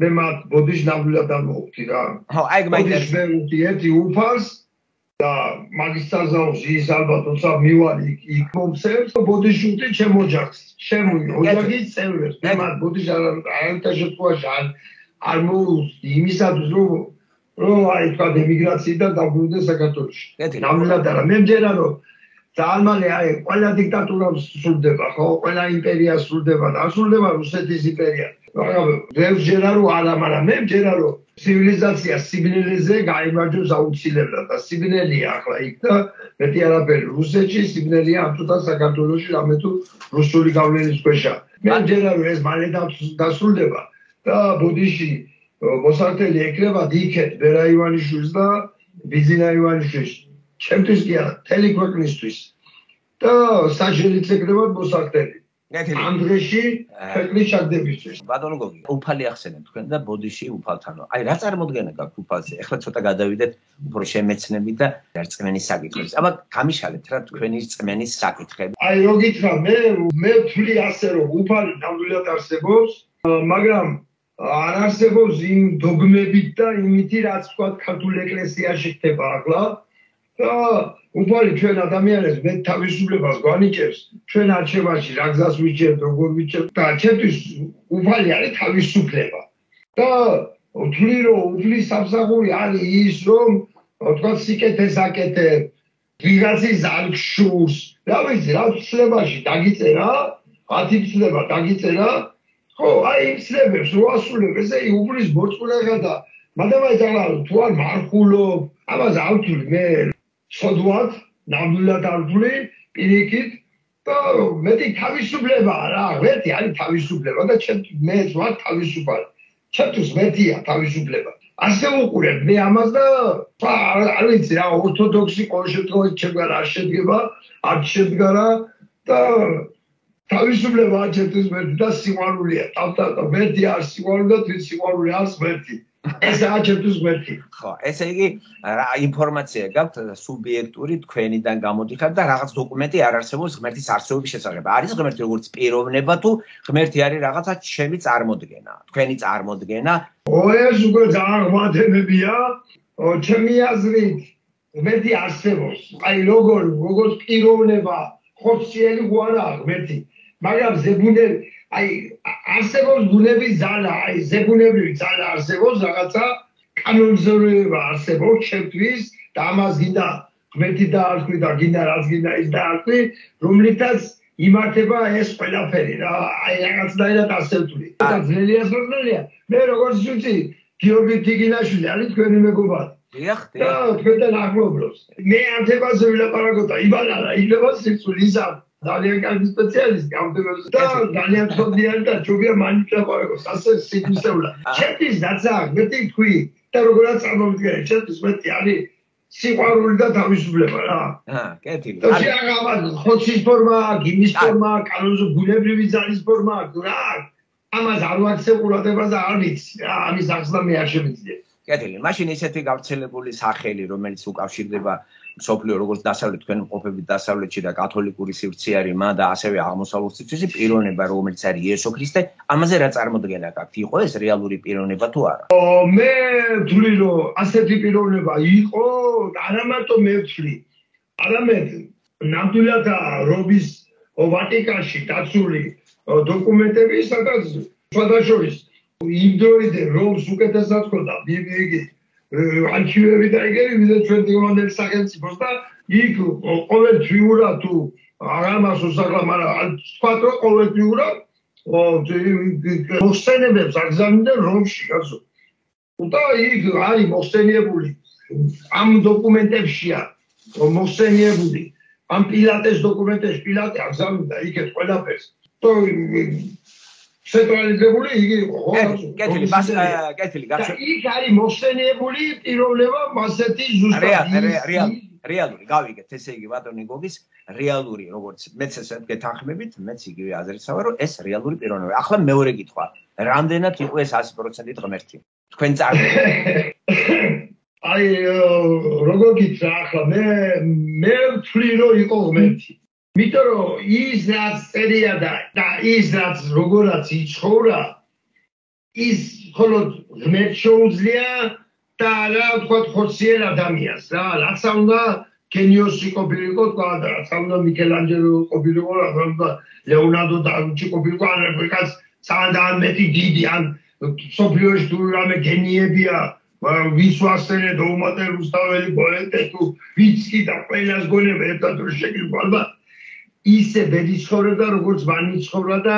მე მათ ბოდიში ნამდვილად არ მოვუწი რა ხო აი მაინტერესებს მე ვუწი ერთი უფალს და მაგისტრალს ის ალბათ თორსა მივალი იქ მომცემს ბოდიში ვუწი ჩემ ოჯახს ჩემ ოჯახის წევრებს მე მათ ბოდიში არ აერთა შემთხვევაში არ არ მოვუწი იმისათვის რომ რომ აი თქვა ემიგრაციიდან დაბრუნდეს საქართველოში ნამდვილად არა მე მჯერა რომ ძალიან მალე აი ყველა დიქტატურა სრულდება ხო ყველა იმპერია სრულდება და სრულდება რუსეთის იმპერია მაგრამ მე მჯერა რომ არა მაგრამ მე მჯერა რომ ცივილიზაცია სიბნელეზე გაიმარჯვებს აუცილებლად და სიბნელეა ახლა იქ და მეტი არაფერი რუსეთში სიბნელეა ამ თუთა საქართველოში რამე თუ რუსული გავლენის ქვეშა მე მჯერა რომ ეს მალე დასრულდება და ბოდიში მოსართელი ეკრება იქეთ ბერა ივანიშვილს და ბიძინა ივანიშვილს ჩემთვის კი არა მთელი ქვეყნისთვის და საჯელიც ეკრებათ მოსართელი ამ დღეში ქვეყნის ჩაგდებისთვის ბატონო გოგი უფალი ახსენეთ თქვენ და ბოდიში უფალთანო აი რა წარმოდგენა გაქვთ უფალზე ეხლა ცოტა გადავიდეთ უფრო შემეცნებით და რწმენის საკითხებს აბა გამიშალეთ რა თქვენი რწმენის საკითხები აი რო გითხრა მე მე ვთვლი ასე რომ უფალი ნამდვილად არსებობს მაგრამ არ არსებობს იმ დოგმებით და იმითი რაც თქვა ქართულ ეკლესიაში ხდება ახლა და უფალი ჩვენ ადამიანებს მე თავისუფლებას გვანიჭებს ჩვენ არჩევანში რა გზას ვიჭერთ როგორ ვიჭერთ და ჩემთვის უფალი არის თავისუფლება და ვთვლი რომ უფლის სამსახური არის ის რომ თქვა სიკეთეს აკეთებ ვიღაცის არ გშურს რა ვიცი რა ცლებაში დაგიწერა ათი ცლება დაგიწერა ხო აი იმ ცლებებს რო ასრულებ ესე უფლის მოწყვლება და მადამაიძალა თუ არ მარხულობ ამას არ ვთვლი მე სოდვად ნამდვილად არ ვთვლი პირიქით და მეტი თავისუფლებაა რა მეტი არის თავისუფლება და მეც ვარ თავისუფალი ჩემთვის მეტია თავისუფლება ასე უყურებ მე ამას და არ ვიცი რა ორთოდოქსი ყოველ შემთხვევაში ჩემგან არ შედგება არ შედგარა და თავისუფლება ჩემთვის მეტი და სიყვარულია თავთან მეტი არ სიყვარული და თვით სიყვარული არს მეტი ეს აჩვენებს მეტი. ხო, ესე იგი ინფორმაცია გაქვთ სუბიექტური თქვენიდან გამოდიხარ და რაღაც დოკუმენტი არ არსებობს ღმერთის არსებობის შესახებ. არის ღმერთი როგორც პიროვნება თუ ღმერთი არის რაღაცა ჩემი წარმოდგენა, თქვენი წარმოდგენა? ო ეს უკვე ძალიან ღმერთებია, ჩემი აზრით ღმერთი არსებობს. აი როგორ როგორც პიროვნება ხორციელი გვარაა ღმერთი. მაგრამ ზებუნები, აი არსებობს ბუნების ძალა, აი ზებუნებრივი ძალა არსებობს, რაღაცა კანონზომიერება არსებობს ჩემთვის და ამას გინდა ღმერთი დაარქვი და გინდა რაც გინდა ის დაარქვი, რომლითაც იმართება ეს ყველაფერი რა, აი რაღაცნაირად ასე ვთვლი. და ძნელია სრულია. მე როგორც ვიცი, გიორგი თიგინაშვილი არის თქვენი მეგობარი. დიახ, და თქვენთან ახლობლობს. მე ანთებაზე ვილაპარაკოთ და იბანა რა, იქნება სიცოცხლე ისა. ძალიან კარგი სპეციალისტი ამ თემებზე და ძალიან ცოდნიანი და ჯობია მაინც ლაპარაკოს ასე სიტყვისეულად. ჩემთვის რაცა მეტი თქვი და როგორაც წარმოვიდგინე, ჩემთვის მეტი არის სიყვარული და თავისუფლება რა. აა, კეთილი. და შეაღამა ხოცის ფორმა, გიმის ფორმა, კანონზე ბუნებრივი ძალის ფორმა, რა. ამას არ ვაქცევ ყურადღებას და არ ვიცი რა, ამის ახსნა მე არ შემიძლია. კეთილი. მაშინ ისეთი გავრცელებული სახელი, რომელიც უკავშირდება მსოფლიო როგორც დასავლეთ თქვენ მყოფებით დასავლეთში და კათოლიკური სივრცეარიმა და ასევე აღმოსავლურ სივრცეში პიროვნება რომელიც არის იესო ქრისტე, ამაზე რა წარმოდგენა გაქვთ? იყო ეს რეალური პიროვნება თუ არა? მე ვთვლი რომ ასეთი პიროვნება იყო, არა მარტო მე ვთვლი. არამედ ნამდვილად რომის ვატიკანში დაცული დოკუმენტები, სადაც სხვადასხვა იმ დროიდან რომს უკეთესად ხოდა ბიბლიიგი არქივები და ეგრევე ვიდრე ჩვენ დიომანდების სახელმწიფოს და იქ ყოველთვიურად თუ აღამას უსახლა, მაგრამ თქვათ რომ ყოველთვიურად მოხსენებებს აგზავნდნენ რომში, კაცო. და იქ არის მოხსენიებული ამ დოკუმენტებშია მოხსენიებული ამ პილატეს დოკუმენტებში პილატე აგზავნიდა იქეთ ყველაფერს. და ცენტრალიზებული იგი იყო, ხო? კეთილი, ბას კეთილი, და იქ არის მოხსენიებული პიროვნება მასეთი ზუსტად რეალური, გავიგეთ, ესე იგი ბატონი გოგის რეალური, როგორც მეც ესე გეთანხმებით, მეც იგივე აზრისაა, რომ ეს რეალური პიროვნება. ახლა მეორე კითხვა, რამდენად იყო ეს one hundred percent ღმერთი? თქვენ წარმოიდგინეთ. აი, როგორ გითხრა ახლა მე მე ვთვლი რომ იყო ღმერთი. იმიტომ რომ ის რაც წერია და ის რაც როგორაც იცხოვრა, ის მხოლოდ ღმერთს შეუძლია და რა ვთქვათ ხორციელ ადამიანს რა, რაც უნდა გენიოსი ყოფილიყო თქვა და რაც უნდა მიქელანჯელო ყოფილიყო, რაც უნდა ლეონარდო და ვინჩი ყოფილიყო, ან რეკაც ძალიან მეტი დიდი ან სოფლიოში თუ რამე გენიებია, ვის ვასწრე და უმატე რუსთაველი პოეტი თუ ვიცი და ყველას გონება ერთად რო შეგიძლია ალბათ ისე ვერ იცხოვრებდა, როგორც მან იცხოვრა და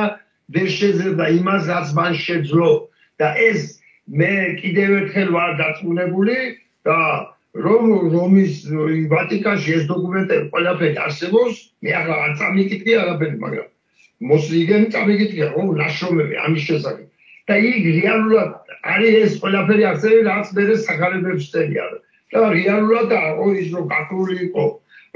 ვერ შეძლებდა იმას, რაც მან შეძლო. და ეს მე კიდევ ერთხელ ვარ დარწმუნებული და რომ რომის ვატიკანში ეს დოკუმენტები ყველაფერი არსებობს, მე ახლა არ წამიკითხე არაფერი, მაგრამ მოსლიგენ წამიკითხე, ხო, ნაშრომები ამის შესახებ. და იქ რეალურად არის ეს ყველაფერი არსებობს, რაც მე სახარებებს წერია. და რეალურად აყო ის რომ გაქრული იყო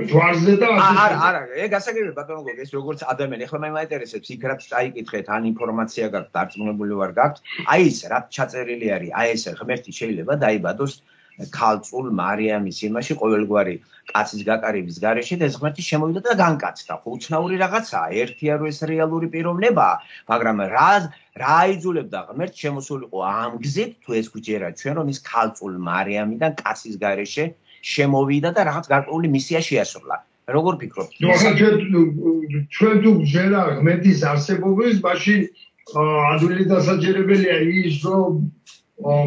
ჯვარზე და ასე. არა, არა, ეგ გასაგებია ბატონო გოგო, ეს როგორც ადამიანი, ახლა მე მაინტერესებს იქ რაც წაიკითხეთ, ან ინფორმაცია გაქვთ, დარწმუნებული ვარ გაქვთ, აი ეს რაც ჩაწერილი არის, აი ეს ღმერთი შეიძლება დაიბადოს ქალწულ მარიამის იმაში ყოველგვარი კაცის გაკარების გარეშე და ეს ღმერთი შემოვიდა და განკაცდა. ხო, უცნაური რაღაცაა, ერთია რომ ეს რეალური პიროვნებაა, მაგრამ რა რა აიძულებდა ღმერთს შემოსულიყო ამ გზით, თუ ეს გვიჯერა ჩვენ რომ ის ქალწულ მარიამიდან კაცის გარეშე შემოვიდა და რაღაც გარკვეული მისია შეასრულა. როგორ ფიქრობთ? ჩვენ თუ გვჯერა ღმერთის არსებობის, მაშინ ადვილი დასაჯერებელია ის, რომ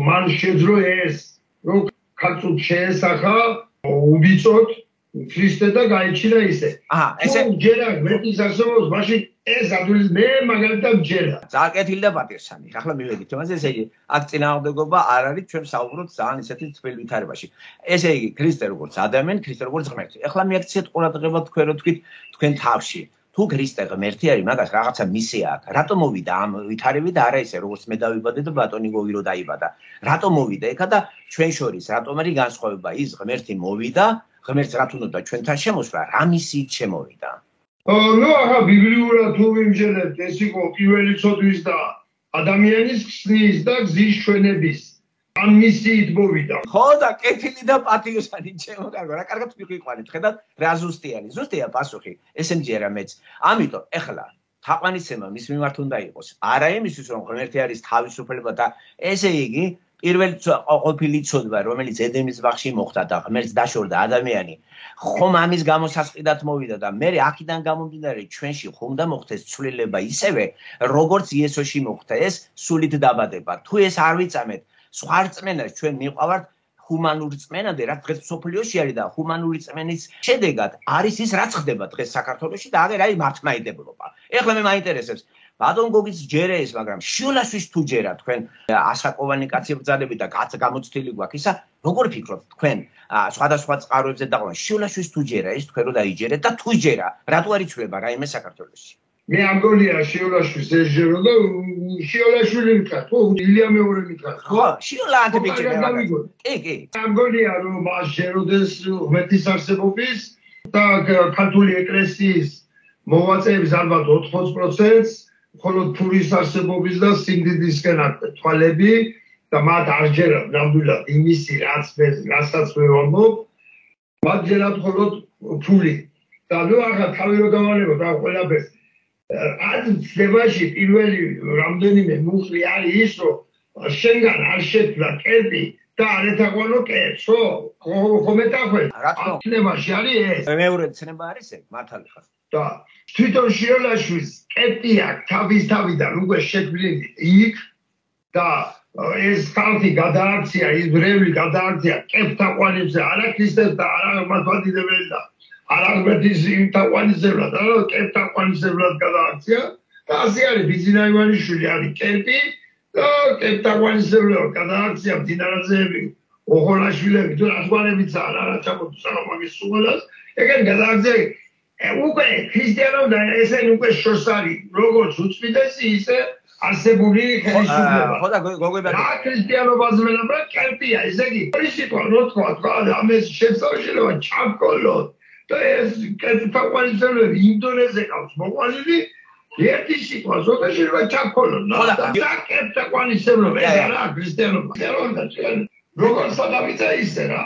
მან შეძლო ეს, რომ ქალწულს შეესახა უბიწოდ ქრისტე და გაიჩინა ისე. აჰა, ესე ჯერა ღმერთის არსებობს, მაშინ ეს ადვილი მე მაგალითად ჯერა. ზაკეთილი და პატიოსანი. ახლა მივედით თემაზე, ესე იგი, აქ წინააღმდეგობა არ არის, ჩვენ საუბრობთ ძალიან ისეთი თბილ ვითარებაში. ესე იგი, ქრისტე როგორც ადამიანი, ქრისტე როგორც ღმერთი. ახლა მიაქციეთ ყურადღება თქვენ რო თქვით თქვენ თავში. თუ ქრისტე ღმერთი არის, მაგას რაღაცა მისია აქვს. რატომ მოვიდა ამ ვითარები და არა ისე, როგორც მე დავიბადე და ბატონი გოგი რო დაიბადა. რატომ მოვიდა ეხა და ჩვენ შორის რატომ არის განსხვავება? ის ღმერთი მოვიდა, ღმერთს რა თუნდაც ჩვენთან შემოსვლა, რა მისიით შემოვიდა? ნუ ახლა ბიბლიურად თუ ვიმჯერებთ, ეს იყო პირველი ცოდვის და ადამიანის ხსნის და გზის ჩვენების ამ მისიით მოვიდა. ხო და კეთილი და პატიოსანი ჩემო კარგო, რა კარგად მიყიყვანეთ, ხედავთ რა ზუსტიანი, ზუსტია პასუხი, ესე მჯერა მეც. ამიტომ ეხლა თაყვანისცემა მის მიმართ უნდა იყოს. არა იმისთვის რომ ღმერთი არის თავისუფლება და ესე იგი პირველი ყოფილი ცოდვა, რომელიც ედემის ბაღში მოხდა და ღმერთს დაშორდა ადამიანი, ხომ ამის გამო სასყიდად მოვიდა და მე აქედან გამომდინარე ჩვენში ხომ უნდა მოხდეს ცვლილება ისევე, როგორც იესოში მოხდა ეს სულით დაბადება. თუ ეს არ ვიწამეთ, სხვა რწმენას ჩვენ მიყავართ ჰუმანური რწმენამდე, რაც დღეს სოფლიოში არის და ჰუმანური რწმენის შედეგად არის ის, რაც ხდება დღეს საქართველოში და აღარ არის მართლმადიდებლობა. ეხლა მე მაინტერესებს ბატონ გოგის ჯერე ეს, მაგრამ შიოლაშვილს თუ ჯერა თქვენ ასაკოვანი კაცი ბრძანები და კაც გამოცდილი გვაქვს ისა, როგორ ფიქრობთ თქვენ სხვადასხვა წყაროებზე დაყვა შიოლაშვილს თუ ჯერა ეს თქვენ რო დაიჯერეთ და თუ ჯერა, რატო არ იცვლება რაიმე საქართველოში? მე ამგონია შიოლაშვილს ეჯერო და შიოლაშვილი მითხრა, ხო, ილია მეორე მითხრა. ხო, შიოლანტე მიჭირდა. კი, კი. ამგონია რომ მას ჯეროდეს ღმერთის არსებობის და ქართული ეკლესიის მოვაწეების ალბათ ოთხმოცდ პროცენტს მხოლოდ ფურის არსებობის და სიმდიდრისკენ აქვს თვალები და მათ არ ჯერათ ნამდვილად იმისი რაც მე რასაც მე ვამბობ, მათ ჯერათ მხოლოდ ფული. და ნუ ახლა თავი რო დავანებოთ ამ ყველაფერს. ამ ცდებაში პირველი რამდენიმე მუხლი არის ის, რომ შენგან არ შექმნა კერპი და არ ეთაყვანო კერპს, ხო? ხომ ეთაყვენ? ამ ცდებაში არის ეს. მეორე ცნება არის ეს, მართალი ხარ. და თვითონ შიოლაშვილს კერპი აქვს თავის თავიდან უკვე შექმნილი იქ და ეს ხალხი გადააქცია, ის ბრევი გადააქცია კერპთაყვანებზე, არა ქრისტეს და არა მართლმადიდებლებს და არა ღმერთის თაყვანისებრად, არა კერპთაყვანისებრად გადააქცია და ასე არის ბიძინა ივანიშვილი არის კერპი და კერპთაყვანისებრად გადააქცია მდინარაძეები, ოღონაშვილები თუ რათვანებიცაა რა ჩამოთვლა სამაგის სულას, ეგენ გადააქცია უკვე ქრისტიანობა ესენი უკვე შორს არის, როგორც უწმიდესი ისე არსებული ხელისუფლება. ხო და გოგებად რა ქრისტიანობას მელაბა კერპია, ესე იგი, პრინციპი რო თქვა, თქვა ამის შესაძლებლობა ჩამკოლოთ და ეს კერპთაყვანისებრები ინდონეზე ყავს მოყვანილი ერთი სიტყვა ზოგადად შეიძლება ჩამკოლოთ. და კერპთაყვანისებრები ეს არა ქრისტიანობა. ქრისტიანობა როგორ სადავიცა ისე რა.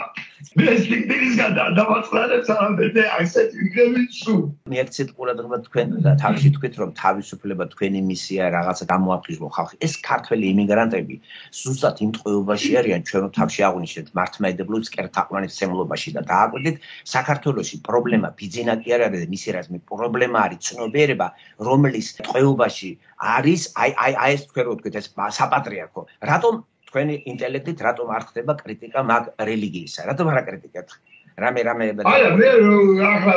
მე სიტყვისგან დავაწყდებს ამბები ასეთ ვიგები სულ. მიეცეთ ყურადღება თქვენ თავში თქვით რომ თავისუფლება თქვენი მისია რაღაცა გამოაფრთხილო ხალხი. ეს ქართველი იმიგრანტები ზუსტად იმ ტყვეობაში არიან ჩვენ თავში აღვნიშნეთ მართლმადიდებლობის კერპთაყვანისმცემლობაში და დააკვირდით საქართველოში პრობლემა ბიძინა კი არ არის მისი რაზმი პრობლემა არის ცნობიერება რომლის ტყვეობაში არის აი აი აი ეს თქვენ რო თქვით ეს საპატრიარქო. რატომ თქვენი ინტელექტით რატომ არ ხდება კრიტიკა მაგ რელიგიისა? რატომ არ აკრიტიკებთ? რამე რამე არა მე ახლა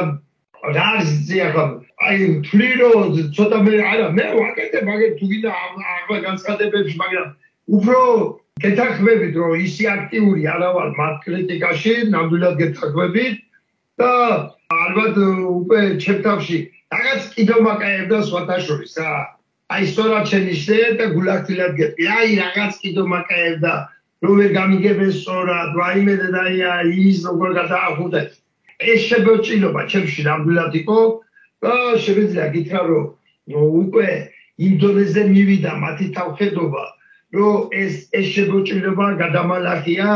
რა არის ახლა აი თვლირო ცოტა მე არა მე ვაკეთებ მაგე თუ გინდა ახლა განცხადებებში, მაგრამ უფრო გეთანხმებით რომ ისი აქტიური არა ვარ მათ კრიტიკაში, ნამდვილად გეთანხმებით და ალბათ უკვე ჩემთავში რაღაც კიდევ მაკაებდა სხვათა შორის რა. აი სწორად შენიშნე და გულახდილად გეტყვი. აი რაღაც კიდევ მაკაებდა რომ ვერ გამიგებენ სწორად, რაიმე და ის როგორ გადაახუდეთ. ეს შეგეჭილობა ჩემში ნამდვილად იყო და შემიძლია გითხრა რომ უკვე ინდონეზე მივიდა მათი თავხედობა, რომ ეს ეს შეგეჭილობა გადამალახია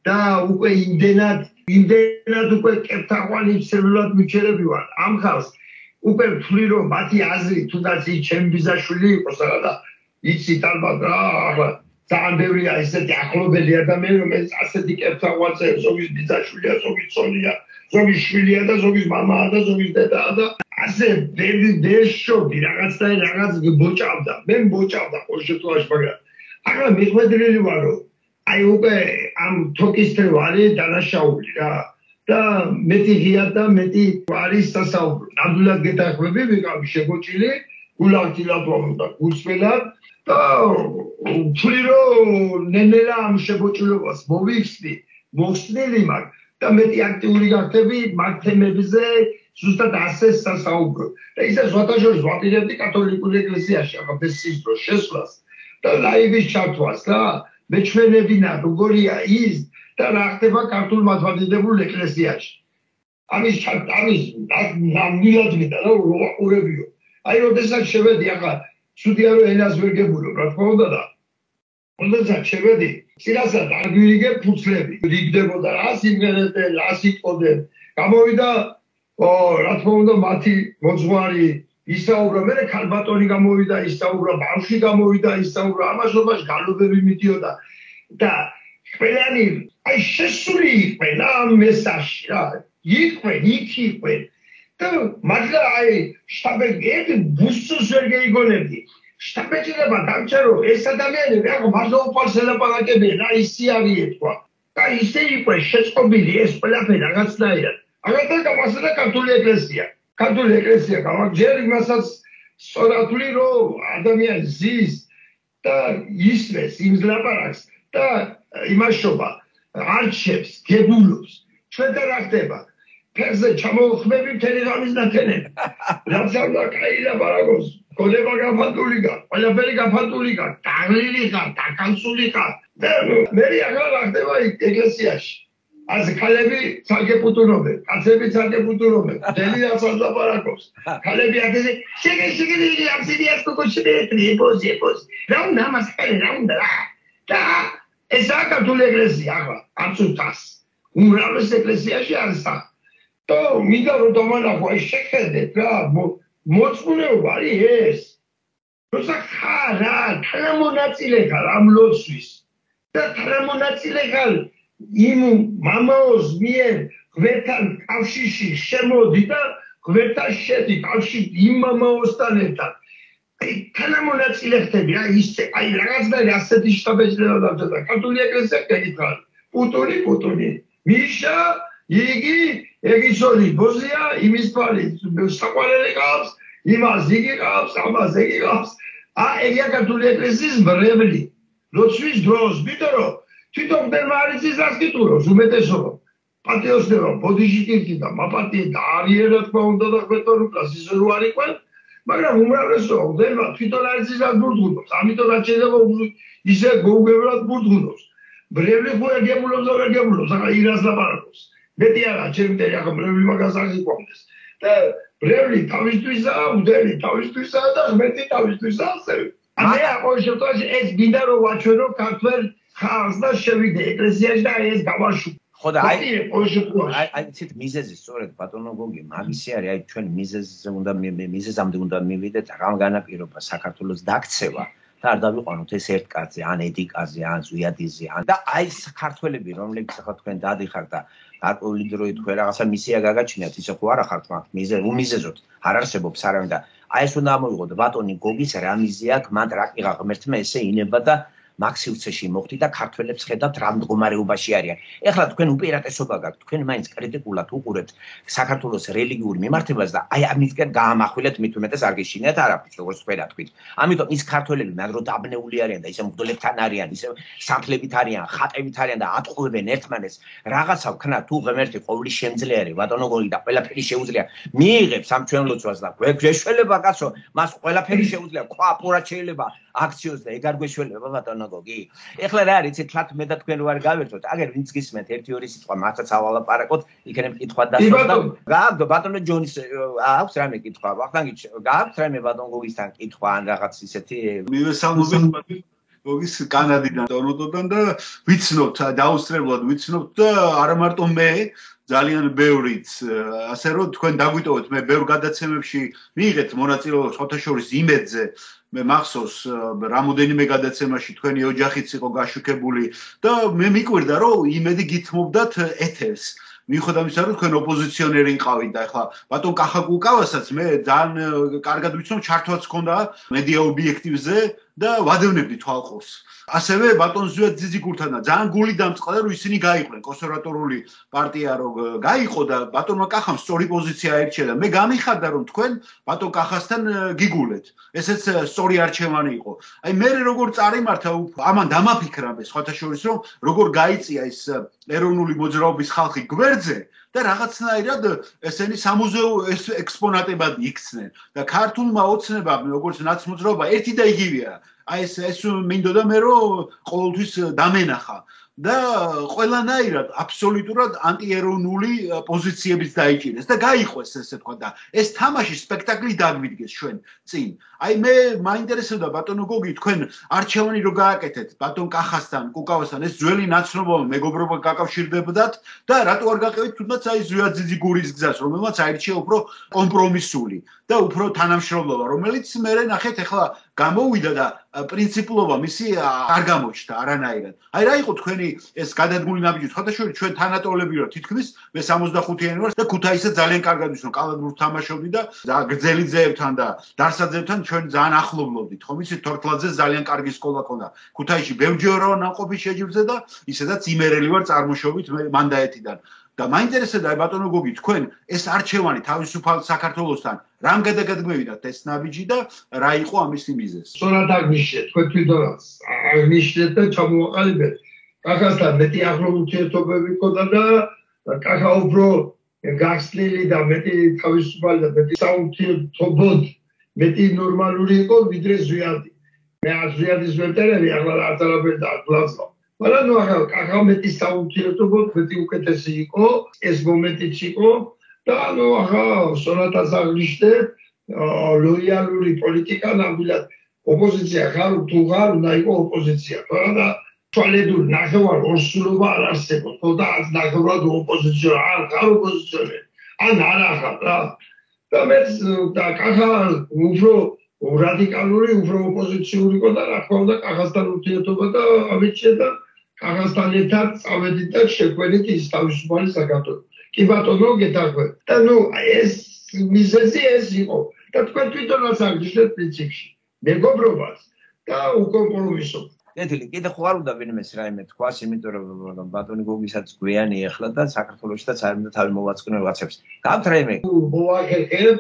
და უკვე იმდენად იმდენად უკვე კერპთაყვანისებრად მიჩერები ვარ. ამ ხალხს უკვე ვთვლი რომ მათი აზრი თუნდაც ის ჩემი ბიძაშვილი იყოს რა და იცით ალბათ რა ახლა ძალიან ბევრია ესეთი ახლობელი ადამიანი რომელიც ასეთი კერპთაყვანს ზოგის ბიძაშვილია, ზოგის ცოლია, ზოგის შვილია და ზოგის მამაა და ზოგის დედაა და ასე ბევრი დეშობი რაღაც და რაღაც ბოჭავდა. მე ბოჭავდა ყოველ შემთხვევაში, მაგრამ ახლა მიხვედრილი ვარ რომ აი უკვე ამ თოკის თევარი დანაშაული რა. და მეტი ღია და მეტი არის სასაუბრო. ნამდვილად გეთანხმები, ვიყავი შეგოჭილი, გულახდილად და გულწრფელად და ვთვლი რომ ნენელა ამ შეგოჭილობას მოვიხსნი, მოხსნილი მაქვს და მეტი აქტიური გახდები მაგ თემებზე ზუსტად ასე სასაუბრო. და ისე სხვათა შორის ვაპირებდი კათოლიკურ ეკლესიაში აღაბესის დროს შესვლას და ლაივის ჩართვას რა. მეჩვენებინა როგორია ის და რა ხდება ქართულ მართლმადიდებელ ეკლესიაში. ამის ამის ნამდვილად მინდა რა უყურებიო. აი როდესაც შევედი ახლა ცუდია რომ ენას ვერ გებულობ რა თქმა უნდა და როდესაც შევედი წინასწარ არ გვირიგებ ფუცლები. რიგდებოდა რა სიმღერები, რა სიტყვები. გამოვიდა ო რა თქმა უნდა მათი მოძღვარი ისაუბრა, მე ქალბატონი გამოვიდა ისაუბრა, ბავშვი გამოვიდა ისაუბრა, ამასობაში გალობები მიდიოდა. და ყველანი აი შესული იყვენ ამ მესაში რა იყვენ იქ იყვენ და მაგრამ აი შტაბები ბუსს ვერ გეიგონებდი შტაბეჭება დამჭერო ეს ადამიანები რა მარტო უპარსელაპარაკებიან რა ისი არის ეთქვა და ისე იყვენ შეწყობილი ეს ყველაფერი რაღაცნაირად აგრეთვე გამოსადა ქართული ეკლესია ქართული ეკლესია გამარჯვება იმასაც სწორადული რომ ადამიანი ზის და ისმეს იმს ლაპარაკს და იმაშობა არჩევს გებულობს ჩვენ და რა ხდება ფერზე ჩამოხმები მთელი ღამის ნათენები რაც არ კაი ლაპარაკობს გონება გაფანტული გარ ყველაფერი გაფანტული გარ დაღლილი გარ დაკანცული გარ და მე აღარ რა ხდება ეკლესიაში ასე ქალები ცალკეპუტუნობენ კაცები ცალკეპუტუნობენ მთელი რაც არ ლაპარაკობს ქალები ასე შეგე შეგე ამსიდიას კოკოშები ებოზი ებოზი რა უნდა მასკარი რა უნდა და ეს აკათოლიკე ეკლესია ახლა აბსოლუტას უმრავლეს ეკლესიაში არის და და მინდა რომ დავანახო ეს შეხედეთ რა მოწმულეობა არის ეს როცა ხარა თანამონაწილე ხარ ამ ლოცვის და თანამონაწილე ხარ იმ მამაოს მიერ გვერდთან კავშირში შემოდი და გვერდთან შედი კავშირში იმ მამაოსთან ერთად აი თანამონაწილე ხდები რა ისე აი რაღაცნაირი ასეთი შტაბეჭდება და ქართული ეკლესია გეკითხა პუტონი პუტონი მიშა იგი ეგისოლი ბოზია იმის პარი საყვარელი ყავს იმას იგი ყავს ამას იგი ყავს ა ეგია ქართული ეკლესიის მრევლი ლოცვის დროს იმიტომ რომ თვითონ მდემარიცის ასკიტუროს უმეტესობა პატიოსნებო ბოდიში და მაპატიე და არიერ რა თქმა უნდა და ხვეტორუკას ისე რო არ იყვენ მაგრამ უმრავლესობა მდემა თვითონ არიცის ასბურდღუნობს ამიტომ რაც შეიძლება ისე გოუგებრად ბურდღუნობს მრევლი ხო ეგებულობს და ეგებულობს ახლა ირას ლაპარაკობს მეტი არა ჩემდე ახლა მრევლი მაგას არ იყვამდეს და მრევლი თავისთვისაა მდელი თავისთვისაა და მეტი თავისთვისაა ასევე მე ახლა შემთხვევაში ეს გინდა რომ ვაჩვენო ქართველ ხალხს და შევიდე ეკლესიაში და ეს გავაშუქო ხო და აი აი აი ცით მიზეზი სწორედ ბატონო გოგი მაგისი არის აი ჩვენ მიზეზზე უნდა მიზეზამდე უნდა მივიდეთ რამ განაპირობა საქართველოს დაქცევა და არ დავიყვანოთ ეს ერთ კაცზე ან ედიკაზე ან ზვიადიზე ან და აი საქართველები რომლებიც ახლა თქვენ დადიხართ და გარკვეული დროით თქვენ რაღაცა მისია გაგაჩინათ ისე ხო არა ხართ მაგ მიზე უმიზეზოთ არ არსებობს არავინ და აი ეს უნდა ამოვიღოთ ბატონი გოგის რა მიზია აქ მან რაკიღა ღმერთმა ესე ინება და მაგ სივრცეში მოხდი და ქართველებს ხედავთ რა მდგომარეობაში არიან. ეხლა თქვენ უპირატესობა გაქვთ, თქვენ მაინც კრიტიკულად უყურებთ საქართველოს რელიგიურ მიმართებას და აი ამისკენ გაამახვილეთ მით უმეტეს არ გეშინიათ არაფერს, როგორც თქვენ თქვით. ამიტომ ის ქართველები მაგრო დაბნეული არიან და ისე მგდოლებთან არიან, ისე სამთლებით არიან, ხატებით არიან და ატყუებენ ერთმანეთს. რაღაცა ვქნა თუ ღმერთი ყოვლის შემძლეარი ბატონო გოგი და ყველაფერი შეუძლია. მიიღებს ამ ჩვენ ლოცვას და გვეშველება კაცო, მას ყველაფერი შეუძლია. ყვა პურად შეიძლება აქციოს და ეგ არ გვეშველება ბატონო გოგი. ეხლა რა არის, იცით, მე და თქვენ რო არ გავერთოთ, აგერ ვინც გისმენთ ერთი ორი სიტყვა მართაც ავალაპარაკოთ, იქნებ კითხვა დასვლა და გააგდო ბატონო ჯონის აქვს რამე კითხვა, ვახტანგი გააქვს რამე ბატონ გოგისთან კითხვა ან რაღაც ისეთი მივესალმობთ გოგის კანადიდან დონოდოდან და ვიცნობთ, დაუსწრებლად ვიცნობთ და არა მარტო მე ძალიან ბევრიც, ასე რომ თქვენ დაგვიტოვეთ, მე ბევრ გადაცემებში მიიღეთ მონაწილეობა შოთაშორის იმედზე მე მახსოვს რამოდენიმე გადაცემაში თქვენი ოჯახიც იყო გაშუქებული და მე მიკვირდა რომ იმედი გითმობდათ ეთერს მიუხედავად იმისა რომ თქვენ ოპოზიციონერი იყავით და ახლა ბატონ კახაკუკავასაც მე ძალიან კარგად ვიცნობ ჩართვაც ჰქონდა მედია ობიექტივზე და ვადევნებდი თვალყურს ასევე ბატონ ზვიად ძიძიგურთანა ძალიან გული დამწყდა რომ ისინი გაიყვნენ კონსერვატორული პარტია რომ გაიყო და ბატონმა კახამ სწორი პოზიცია აირჩია და მე გამიხარდა რომ თქვენ ბატონ კახასთან გიგულეთ ესეც სწორი არჩევანი იყო აი მე როგორ წარიმართა ამან დამაფიქრა მე სხვათა შორის რომ როგორ გაიწია ეს ეროვნული მოძრაობის ხალხი გვერდზე და რაღაცნაირად ესენი სამუზეო ექსპონატებად იქცნენ და ქართულმა ოცნებამ როგორც ნაცმოძრაობა ერთი და იგივეა აი ეს ეს მინდოდა მე რომ ყოველთვის დამენახა და ყველანაირად აბსოლუტურად ანტიეროვნული პოზიციების დაიჭირეს და გაიყვეს ესე თქვა და ეს თამაში სპექტაკლი დაგვიდგეს ჩვენ წინ აი მე მაინტერესებდა ბატონო გოგი თქვენ არჩევანი რო გააკეთეთ ბატონ კახასთან კუკავასთან ეს ძველი ნაცნობობა მეგობრობა გაკავშირდებდათ და რატო არ გაყევით თუნდაც აი ზვიადძიძიგურის გზას რომელმაც აირჩია უფრო კომპრომისული და უფრო თანამშრომლობა რომელიც მე ნახეთ ახლა გამოვიდა და პრინციპულობა მისი არ გამოჩნდა არანაირად. აი რა იყო თქვენი ეს გადადგმული ნაბიჯი? ხოთაშორი ჩვენ თანატოლები ვარ თითქმის მე სამოცდახუთიანი ვარ და ქუთაისზე ძალიან კარგად ვიცნობ კალათბურთს თამაშობდი და გრძელიძეებთან და დარსაძეებთან ჩვენ ძალიან ახლობლობდით. ხომ იცით თორთლაძე ძალიან კარგი სკოლა ქონდა. ქუთაისში ბევრჯერაა ნაყოფი შეჯიბრზე და ისედაც იმერელი ვარ წარმოშობით მანდაეთიდან. და მაინტერესებდა ბატონო გოგი თქვენ ეს არჩევანი თავისუფალ საქართველოსთან რამ გადაგადგმევიდათ ეს ნაბიჯი და რა იყო ამისი მიზეზი? სწორად აღნიშნეთ თქვენ თვითონაც აღნიშნეთ და ჩამოვაყალიბეთ კახასთან მეტი ახლო ურთიერთობები ჰქონდა და კახა უფრო გახსნილი და მეტი თავისუფალი და მეტი საურთიერთობოდ მეტი ნორმალური იყო ვიდრე ზვიადი. მე ზვიადის ვერტერები ახლა არც არაფერი დააკლასო. მაგრამ ნუ ახლა კახა მეტი საურთიერთობოდ მეტი უკეთესი იყო ეს მომენტიც იყო და ნუ ახლა სონატას აღნიშნეთ ლოიალური პოლიტიკა ნამდვილად ოპოზიცია ხარ თუ ხარ უნდა იყო ოპოზიცია. თორემ და თვალედურ ნახევარ ორსულობა არ არსებობს. ხო და ნახევრად ოპოზიცია არ ხარ ოპოზიციონერი. ან არ ახლა რა. და მე და კახა უფრო რადიკალური, უფრო ოპოზიციური იყო და რა თქმა უნდა კახასთან ურთიერთობა და ამიჩნდა და კახასთან ერთად წავედით და შეგვენით ის თავისუფალი საქართველო. კი ბატონო გეთაქვე. და ნუ ეს მიზეზი ეს იყო და თქვენ თვითონაც აღნიშნეთ პრინციპში. მეგობრობას და უკომპრომისობას. კეთილი, კიდე ხო არ უნდა ვინმეს რაიმე თქვას, იმიტომ რომ ბატონი გოგისაც გვიანი ეხლა და საქართველოშიც არ უნდა თავი მოვაწყინო რაღაცებს. გაქვთ რაიმე? მოვახერხებ,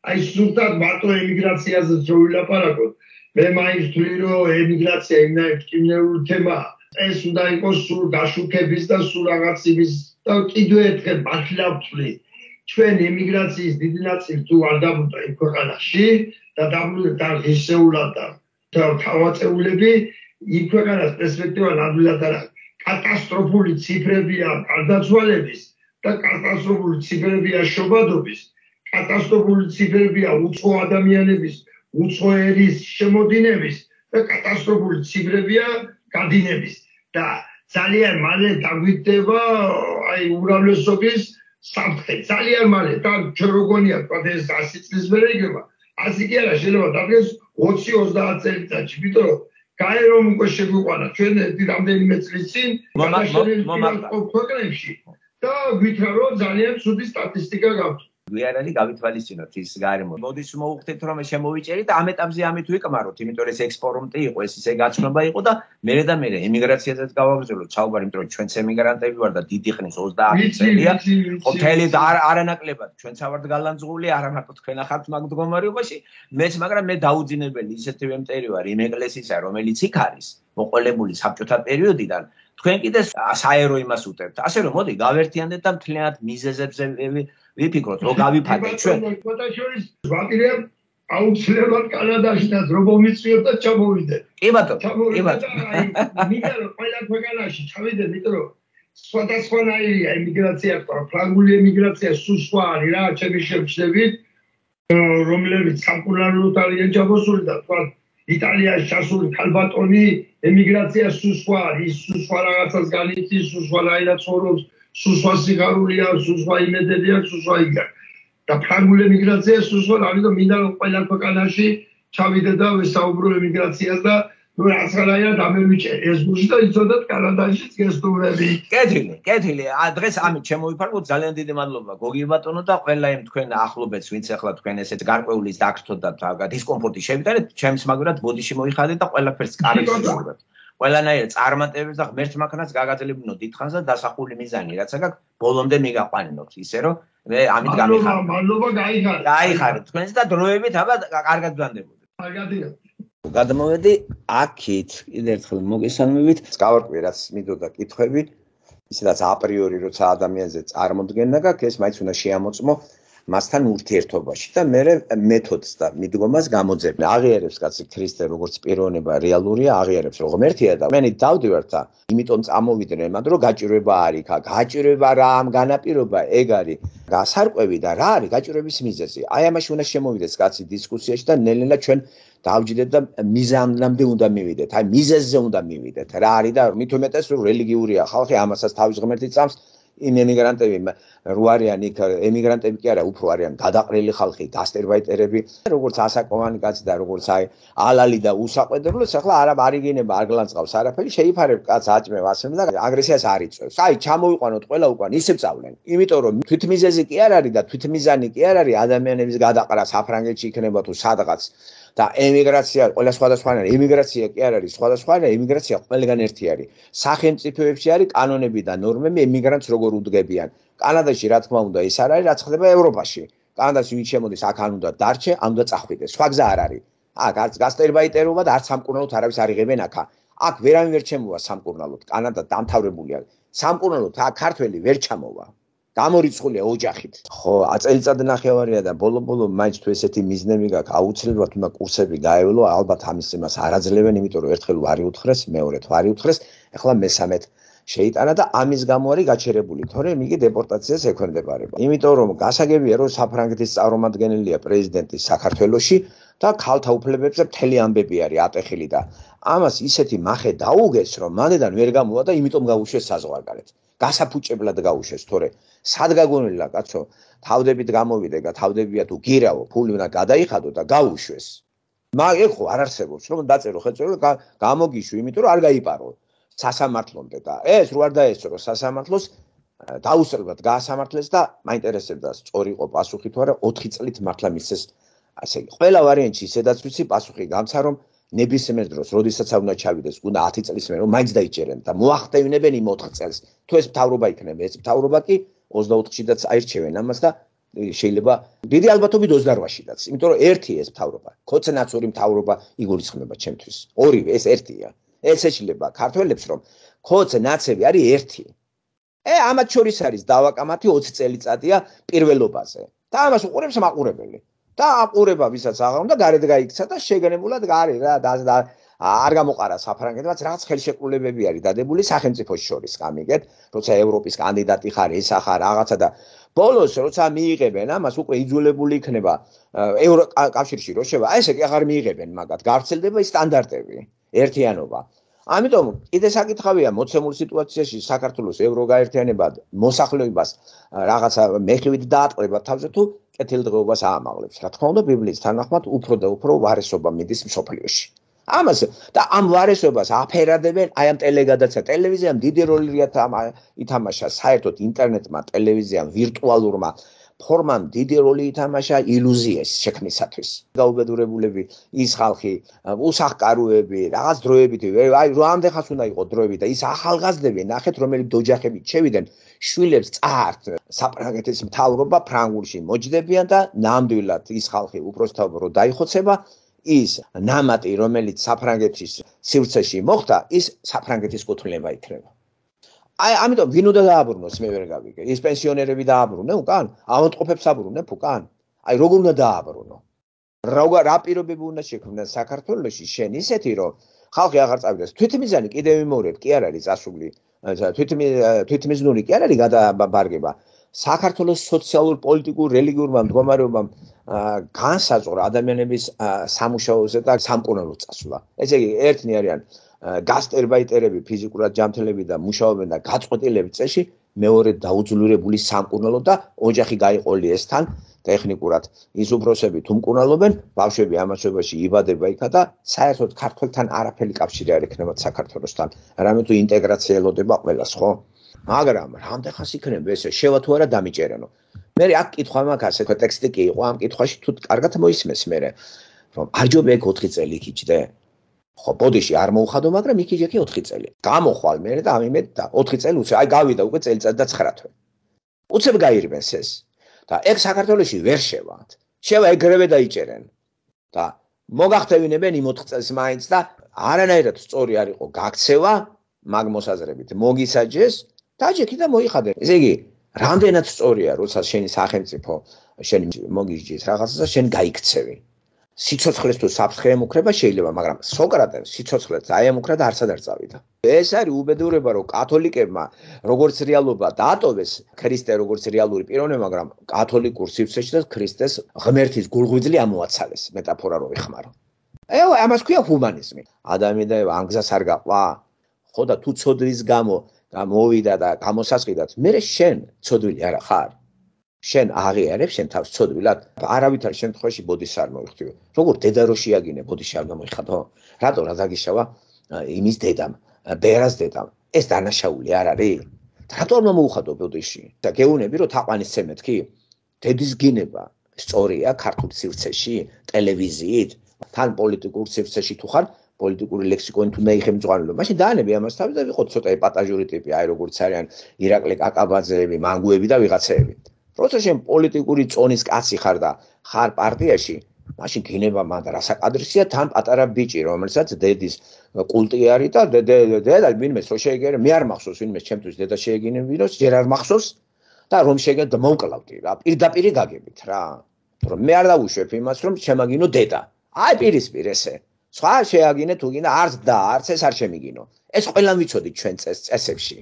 აი სულთან მარტო ემიგრაციაზე შევილაპარაკოთ. მე მაინც ვთვლი რომ ემიგრაცია იმდენად კინეული თემაა. ეს უნდა იყოს სულ დაშუქების და სულ რაღაც იმის და კიდევ ერთხელ მართლა ვთვლი. ჩვენ ემიგრაციის დიდი ნაწილი თუ არ დაბრუნდა იმ ქვეყანაში და დაბრუნდა და ღირსეულად და თავაწეულები იმ ქვეყანას პერსპექტივა ნამდვილად არ აქვს. კატასტროფული ციფრებია გარდაცვალების და კატასტროფული ციფრებია შობადობის, კატასტროფული ციფრებია უცხო ადამიანების, უცხო ერის შემოდინების და კატასტროფული ციფრებია გადინების და ძალიან მალე დაგვიდება აი უმრავლესობის საფრთხე. ძალიან მალე და ჩვენ როგორია თქვა ეს ასი წლის მერე იქნება. ასი კი არა შეიძლება დაგეს ოცი ოცდაათ წელიწადში, იმიტომ რომ გაი რომ უკვე შეგვიყვანა ჩვენ რამდენიმე წლის წინ ქვეყნებში და გვითხრა რომ ძალიან ცუდი სტატისტიკა გაქვთ. გვიანალი გავითვალისწინოთ ის გარემო. მოდის მოვუხდეთ რომ შემოვიჭერით და ამ ეტაპზე ამით ვიკმაროთ, იმიტომ რომ ეს ექსპორტი იყო, ეს ისე გაცნობა იყო და მერე და მერე ემიგრაციაზეც გავაგრძელოთ საუბარი, იმიტომ რომ ჩვენც ემიგრანტები ვარ და დიდი ხნის ოცდაათი წელია. ხო მთელი და არანაკლებად ჩვენც ავართ გალანძღული, არა მარტო თქვენ ახართ მაგ მდგომარეობაში, მეც მაგრამ მე დაუძინებელი ისეთი ვემტერი ვარ იმ ეკლესისა, რომელიც იქ არის, მოყოლებული საბჭოთა პერიოდიდან. თქვენ კიდე საერო იმას უტევთ. ასე რომ მოდი გავერთიანდეთ და მთლიანად მიზეზებზე ვიფიქროთ, რომ გავიფადეთ ჩვენ. ფოტოშორის ვაპირებ აუცილებლად კანადაში და რომ მომიწვიოთ და ჩამოვიდეთ. კი ბატონო, კი ბატონო. მინდა რომ ყველა ქვეყანაში ჩავიდე, იმიტომ რომ სხვადასხვანაირია ემიგრაცია, ფრანგული ემიგრაცია სულ სხვა არის რა, ჩემი შემჩნევით, რომლებიც სამკურნალოდ არიან ჩამოსული და თქვა იტალიაში ჩასული ქალბატონი ემიგრაცია სულ სხვა არის, სულ სხვა რაღაცას განიცდის, სულ სხვანაირად ცხოვრობს. სულ სხვა სიღარული აქვს, სულ სხვა იმედები აქვს, სულ სხვა იგი აქვს. და ფრანგული ემიგრაცია სულ სხვა, ამიტომ მინდა რომ ყველა ქვეყანაში ჩავიდე და ვესაუბრო ემიგრაციას და ნუ რაღაცნაირად ამევიჭე ეს გუშინ და იცოდეთ კანადაშიც გესტუმრები. კეთილი, კეთილი. დღეს ამით შემოვიფარგლოთ. ძალიან დიდი მადლობა გოგი ბატონო და ყველა იმ თქვენ ახლობებს, ვინც ახლა თქვენ ესეთ გარკვეულის დაგრთოთ და დისკომფორტი შევიტანეთ, ჩემს მაგრად ბოდიში მოიხადეთ და ყველაფერს კარგად შევუდგეთ. ყველანაირად წარმატებებს და ღმერთს მაქნას გაგაძლებინო დიდხანს და დასახული მიზანი რაც აქვს ბოლომდე მიგაყვანინოთ ისე რომ მე ამით გამიხარდ. მადლობა, გაიხარეთ. გაიხარეთ თქვენს და დროებით აბა კარგად ვდანდებოდეთ. კარგადია. გადმოვედი აქით კიდე ერთხელ მოგესალმებით. გავარკვიე რაც მიდოდა კითხვები, ისედაც აპრიორი როცა ადამიანზე წარმოდგენა გაქვს, ეს მაინც უნდა შეამოწმო მასთან ურთიერთობაში და მე მეთოდს და მიდგომას გამოძებნა. აღიარებს კაცი ქრისტე როგორც პიროვნება რეალურია, აღიარებს რომ ღმერთია და მე დავდივარ და იმიტომ წამოვიდნენ მანდ რომ გაჭირვება არის აქ. გაჭირვება რა ამ განაპირობა ეგ არის. გასარკვევი და რა არის გაჭირვების მიზეზი. აი ამაში უნდა შემოვიდეს კაცი დისკუსიაში და ნელ-ნელა ჩვენ დავჯდეთ და მიზანამდე უნდა მივიდეთ. აი მიზეზზე უნდა მივიდეთ. რა არის და მით უმეტეს რომ რელიგიურია ხალხი, ამასაც თავის ღმერთი წამს იმ ემიგრანტები რო არიან იქ ემიგრანტები კი არა, უფრო არიან გადაყრილი ხალხი, გასტერბაიტერები, როგორც ასაკოვანი კაცი და როგორც აი ალალი და უსაყვედრლოს, ახლა არა არიგინება, არ გლანწყავს არაფერი, შეიფარებ კაც აჭმევ ასემ და აგრესიას არ იწევს. აი, ჩამოვიყვანოთ ყველა უკან, ისე წავლენ. იმიტომ რომ თვითმიზეზი კი არ არის და თვითმიზანი კი არ არის ადამიანების გადაყრა საფრანგეთში იქნება თუ სადღაც. და ემიგრაცია ყველა სხვადასხვანაირი ემიგრაცია კი არ არის სხვადასხვანაირი ემიგრაცია ყველგან ერთი არის სახელმწიფოებში არის კანონები და ნორმები ემიგრანტს როგორ უდგებიან კანადაში რა თქმა უნდა ის არ არის რაც ხდება ევროპაში კანადაში ვინც შემოდის აქ არ უნდა დარჩე ამ უნდა წახვიდეს სხვა გზა არ არის აქ არც გასტერბაიტერობა და არც სამკურნალოდ არავის არ იღებენ აქ აქ ვერავინ ვერ ჩემოვა სამკურნალოდ კანადა დამთავრებულია სამკურნალოდ აქ ქართველი ვერ ჩამოვა გამორიცხულია ოჯახით. ხო, აწელიწად ნახევარია და ბოლო-ბოლო მაინც თუ ესეთი მიზნები გაქვს, აუცილებლად უნდა კურსები გაევლო, ალბათ ამის იმას არ აძლევენ, იმიტომ რომ ერთხელ ვარი უთხრეს, მეორედ ვარი უთხრეს, ახლა მესამედ შეიტანა და ამის გამო არის გაჩერებული, თორემ იგი დეპორტაციას ექვემდებარება. იმიტომ რომ გასაგებია რომ საფრანგეთის წარმომადგენელია პრეზიდენტი საქართველოში და ქალთა უფლებებზე მთელი ამბები არის ატეხილი და ამას ისეთი მახე დაუგეს რომ მანდედან ვერ გამოვა და იმიტომ გაუშვეს საზღვარგარეთ. გასაფუჭებლად გაუშვეს, თორე სად გაგონილა კაცო, თავდებით გამოვიდე და თავდებია თუ გირავო, ფული უნდა გადაიხადო და გაუშვეს. მაგ ხო არ არსებობს, რომ დაწერო ხელწოდება და გამოგიშვი, იმიტომ რომ არ გაიპარო სასამართლომდე და ეს რო არ დაესწრო სასამართლოს დაუსწრებად გაასამართლეს და მაინტერესებდა სწორი იყო პასუხი თუ არა ოთხი წლით მართლა მისცეს ასე იგი. ყველა ვარიანტში ისედაც ვიცი პასუხი გამცა რომ ნებისმიერ დროს, როდესაც უნდა ჩავიდეს, უნდა ათი წლის მერე რომ მაინც დაიჭერენ და მოახტევინებენ იმ ოთხ წელს. თუ ეს მთავრობა იქნება, ეს მთავრობა კი ოცდაოთხშიდაც აირჩევენ ამას და შეიძლება დიდი ალბათობით ოცდაოთხშიდაც, იმიტომ რომ ერთი ეს მთავრობა, ქოცენაცური მთავრობა იგულისხმება ჩემთვის. ორივე ეს ერთია. ეს ეშლება ქართველებს რომ ქოცენაცები არის ერთი. ე ამათ შორის არის დავაკამათი ოცი წელიწადია პირველობაზე. და ამას უყურებს მაყურებელი. და აყურება ვისაც აღარ უნდა გარეთ გაიქცა და შეგნებულად გარი რა და არ გამოყარა საფრანგეთმაც რაღაც ხელშეკრულებები არის დადებული სახელმწიფოს შორის გამიგეთ როცა ევროპის კანდიდატი ხარ ეს ახარ რაღაცა და ბოლოს როცა მიიღებენ ამას უკვე იძულებული იქნება ევროკავშირში რო შევა ესე კი აღარ მიიღებენ მაგათ გავრცელდება ის სტანდარტები ერთიანობა ამიტომ კიდე საკითხავია მოცემულ სიტუაციაში საქართველოს ევროგაერთიანებად მოსახლეობას რაღაცა მეხივით დაატყრება თავზე თუ კეთილდღეობას აამაღლებს. რა თქმა უნდა, ბიბლიის თანახმად უფრო და უფრო ვარესობა მიდის მსოფლიოში. ამას და ამ ვარესობას აფერადებენ აი ამ ტელეგადაცემა. ტელევიზიამ დიდი როლი ითამაშა საერთოდ ინტერნეტმა, ტელევიზიამ, ვირტუალურმა ფორმამ დიდი როლი ითამაშა ილუზიის შექმნისათვის. გაუბედურებულები ის ხალხი, უსახკაროები, რაღაც დროებით, აი როამდე ხანს უნდა იყოს დროები და ის ახალგაზრდები, ნახეთ რომელი დოჯახებით შევიდნენ, შვილებს წართ საფრანგეთის მთავრობა ფრანგულში მოჯდებიან და ნამდვილად ის ხალხი უბრალოდ რო დაიხოცება, ის ნამატი, რომელიც საფრანგეთის სივრცეში მოხდა, ის საფრანგეთის კუთვნილება იქნება. აი ამიტომ ვინ უნდა დააბრუნოს მე ვერ გავიგე. ის პენსიონერები დააბრუნე უკან? ავადმყოფებს აბრუნებ უკან? აი როგორ უნდა დააბრუნო? რა რა პირობები უნდა შექმნან საქართველოში შენ ისეთი რომ ხალხი აღარ წავიდეს. თვითმიზანი კიდევ ვიმეორებ, კი არ არის წასული. თვითმიზნური კი არ არის გადაბარგება. საქართველოს სოციალურ, პოლიტიკურ, რელიგიურმა მდგომარეობამ განსაზღვრა ადამიანების სამუშაოზე და სამკურნალოდ წასვლა. ესე იგი ერთნი არიან გასტერბაიტერები, ფიზიკურად ჯანმრთელები და მუშაობენ და გაწყვეტილები წეში, მეორე დაუძლურებული სამკურნალო და ოჯახი გაიყოლი ესთან ტექნიკურად ის უბრალოსები თუ მკურნალობენ, ბავშვები ამასობაში იბადება იქა და საერთოდ ქართველთან არაფერი კავშირი არ ექნება საქართველოსთან. რამე თუ ინტეგრაცია ელოდება ყველას, ხო? მაგრამ რამდენ ხანს იქნება ესე შევა თუ არა დამიჭერენო. მე აქ კითხვა მაქვს ასე ტექსტი კი იყო ამ კითხვაში თუ კარგად მოისმეს მე რომ არ ჯობია ეგ ოთხი წელი იქიჭდე. ხო, ბოდიში არ მოუხადო, მაგრამ იქიჭე ოთხი წელი. გამოხვალ მე და ამიმედ და ოთხი წელი უცებ აი გავიდა უკვე წელიწად და ცხრა თვე. უცებ გაირბენს ეს. და ეგ საქართველოში ვერ შევათ. შევა ეგრევე დაიჭერენ. და მოგახტევინებენ იმ ოთხ წელს მაინც და არანაირად სწორი არ იყო გაქცევა მაგ მოსაზრებით. მოგისაჯეს და ჯექი და მოიხადე. ესე იგი, რამდენად სწორია, როცა შენი სახელმწიფო შენ მოგიჯის რაღაცა შენ გაიქცევი. სიცოცხლეს თუ საფრთხე ემუქრება შეიძლება, მაგრამ სოკრატეს სიცოცხლეს აემუქრა და არც არ წავიდა. ეს არის უბედურება, რომ კათოლიკებმა როგორც რეალობა დაატოვეს ქრისტე როგორც რეალური პიროვნება, მაგრამ კათოლიკურ სივრცეში და ქრისტეს ღმერთის გულღვიძლი ამოაცალეს, მეტაფორა რო იხმარო. ე ამას ქვია ჰუმანიზმი. ადამიანი და ამ გზას არ გაყვა. ხო და თუ ცოდვის გამო და მოვიდა და გამოსასყიდად, მე შენ ცოდვილი არა ხარ? შენ აღიარებ შენ თავს ცოდვილად? არავითარ შემთხვევაში ბოდიშს არ მოიხდიო. როგორ დედა რო შეაგინე ბოდიში არ გამოიხადო? რატო რა დაგიშავა იმის დედამ, ბერას დედამ? ეს დანაშაული არ არის? რატო არ მოუხადო ბოდიში? და გეუნები რომ თაყვანისცემ მეთქი? დედის გინება სწორია ქართულ სივრცეში, ტელევიზიით, თან პოლიტიკურ სივრცეში თუ ხარ, პოლიტიკური ლექსიკონით უნდა იხემძღვანელო. მაშინ დაანები ამას თავი და ვიყოთ ცოტა ეპატაჟური ტიპი, აი როგორც არიან ირაკლი კაკაბაძეები, მანგუები და ვიღაცეები. როცა შენ პოლიტიკური წონის კაცი ხარ და ხარ პარტიაში, მაშინ გინება მანდა რასაკადრისია თან პატარა ბიჭი, რომელსაც დედის კულტი არის და დედა ვინმეს რო შეეგერე, მე არ მახსოვს ვინმეს ჩემთვის დედა შეეგინებინოს, ჯერ არ მახსოვს და რომ შეგეთ მოვკლავდი რა, პირდაპირ გაგებით რა. რომ მე არ დავუშვებ იმას, რომ შემაგინო დედა. აი პირისპირ ესე. სხვა შეაგინე თუ გინდა არც და არც ეს არ შემიგინო. ეს ყველამ ვიცოდით ჩვენ წესებში.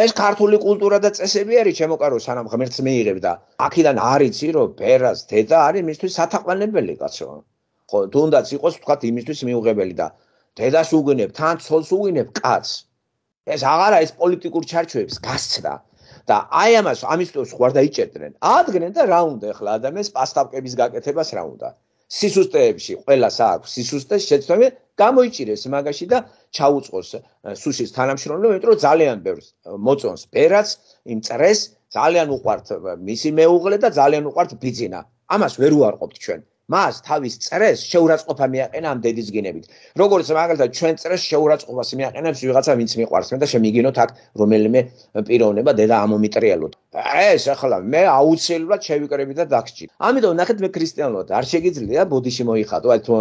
ეს ქართული კულტურა და წესები არის ჩემოკარო სანამ ღმერთს მეიღებ და აქედან არ იცი რომ ბერას დედა არის მისთვის სათაყვანებელი კაცო. ხო თუნდაც იყოს თქვათ იმისთვის მიუღებელი და დედას უგინებ, თან ცოლს უგინებ კაცს. ეს აღარა ეს პოლიტიკურ ჩარჩოებს გასცდა. და აი ამას ამისთვის ხوار დაიჭერდნენ. ადგენენ და რა უნდა ახლა ადამიანს პასტავკების გაკეთებას რა უნდა. სისუსტეებში ყველას აქვს სისუსტეს შეცდომა გამოიჭირეს მაგაში და ჩაუწყოს სუშის თანამშრომლობა, იმიტომ რომ ძალიან ბევრს მოწონს ბერაც, იმ წრეს ძალიან უყვართ მისი მეუღლე და ძალიან უყვართ ბიძინა. ამას ვერ უარყოფთ ჩვენ. მას თავის წრეს შეურაცხყოფა მიაყენა ამ დედის გინებით. როგორც მაგალითად ჩვენ წრეს შეურაცხყოფას მიაყენებს ვიღაცა ვინც მიყვარს და შემიგინოთ აქ რომელიმე პიროვნება დედა ამომიტრიალოთ. ეს ახლა მე აუცილებლად შევიკრები და დაგჭირ. ამიტომ ნახეთ მე ქრისტიანულად არ შეგიძლია ბოდიში მოიხადო, აი თუ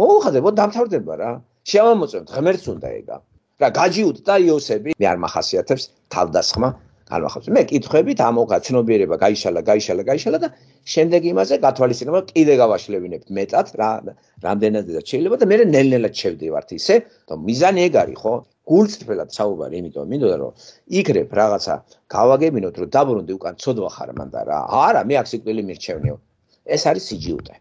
მოუხადებოდ დამთავრდება რა. შევამოწმებთ ღმერთს უნდა ეგა. რა გაჯიუთ და იოსები მე არ მახასიათებს თავდასხმა განვახავს. მე კითხებით ამოღა ცნობიერება გაიშალა, გაიშალა, გაიშალა და შემდეგ იმაზე გათვალისწინება კიდე გავაშლევინებთ მეტად რა რამდენადაც შეიძლება და მე ნელ-ნელად შევდივართ ისე, რომ მიზანი ეგ არის, ხო? გულწრფელად საუბარი, იმიტომ მინდოდა რომ იქრებ რაღაცა გავაგებინოთ, რომ დაბრუნდი უკან ცოდვა ხარ მანდა რა. არა, მე აქ სიკვდილი მირჩევნიო. ეს არის სიჯიუტე.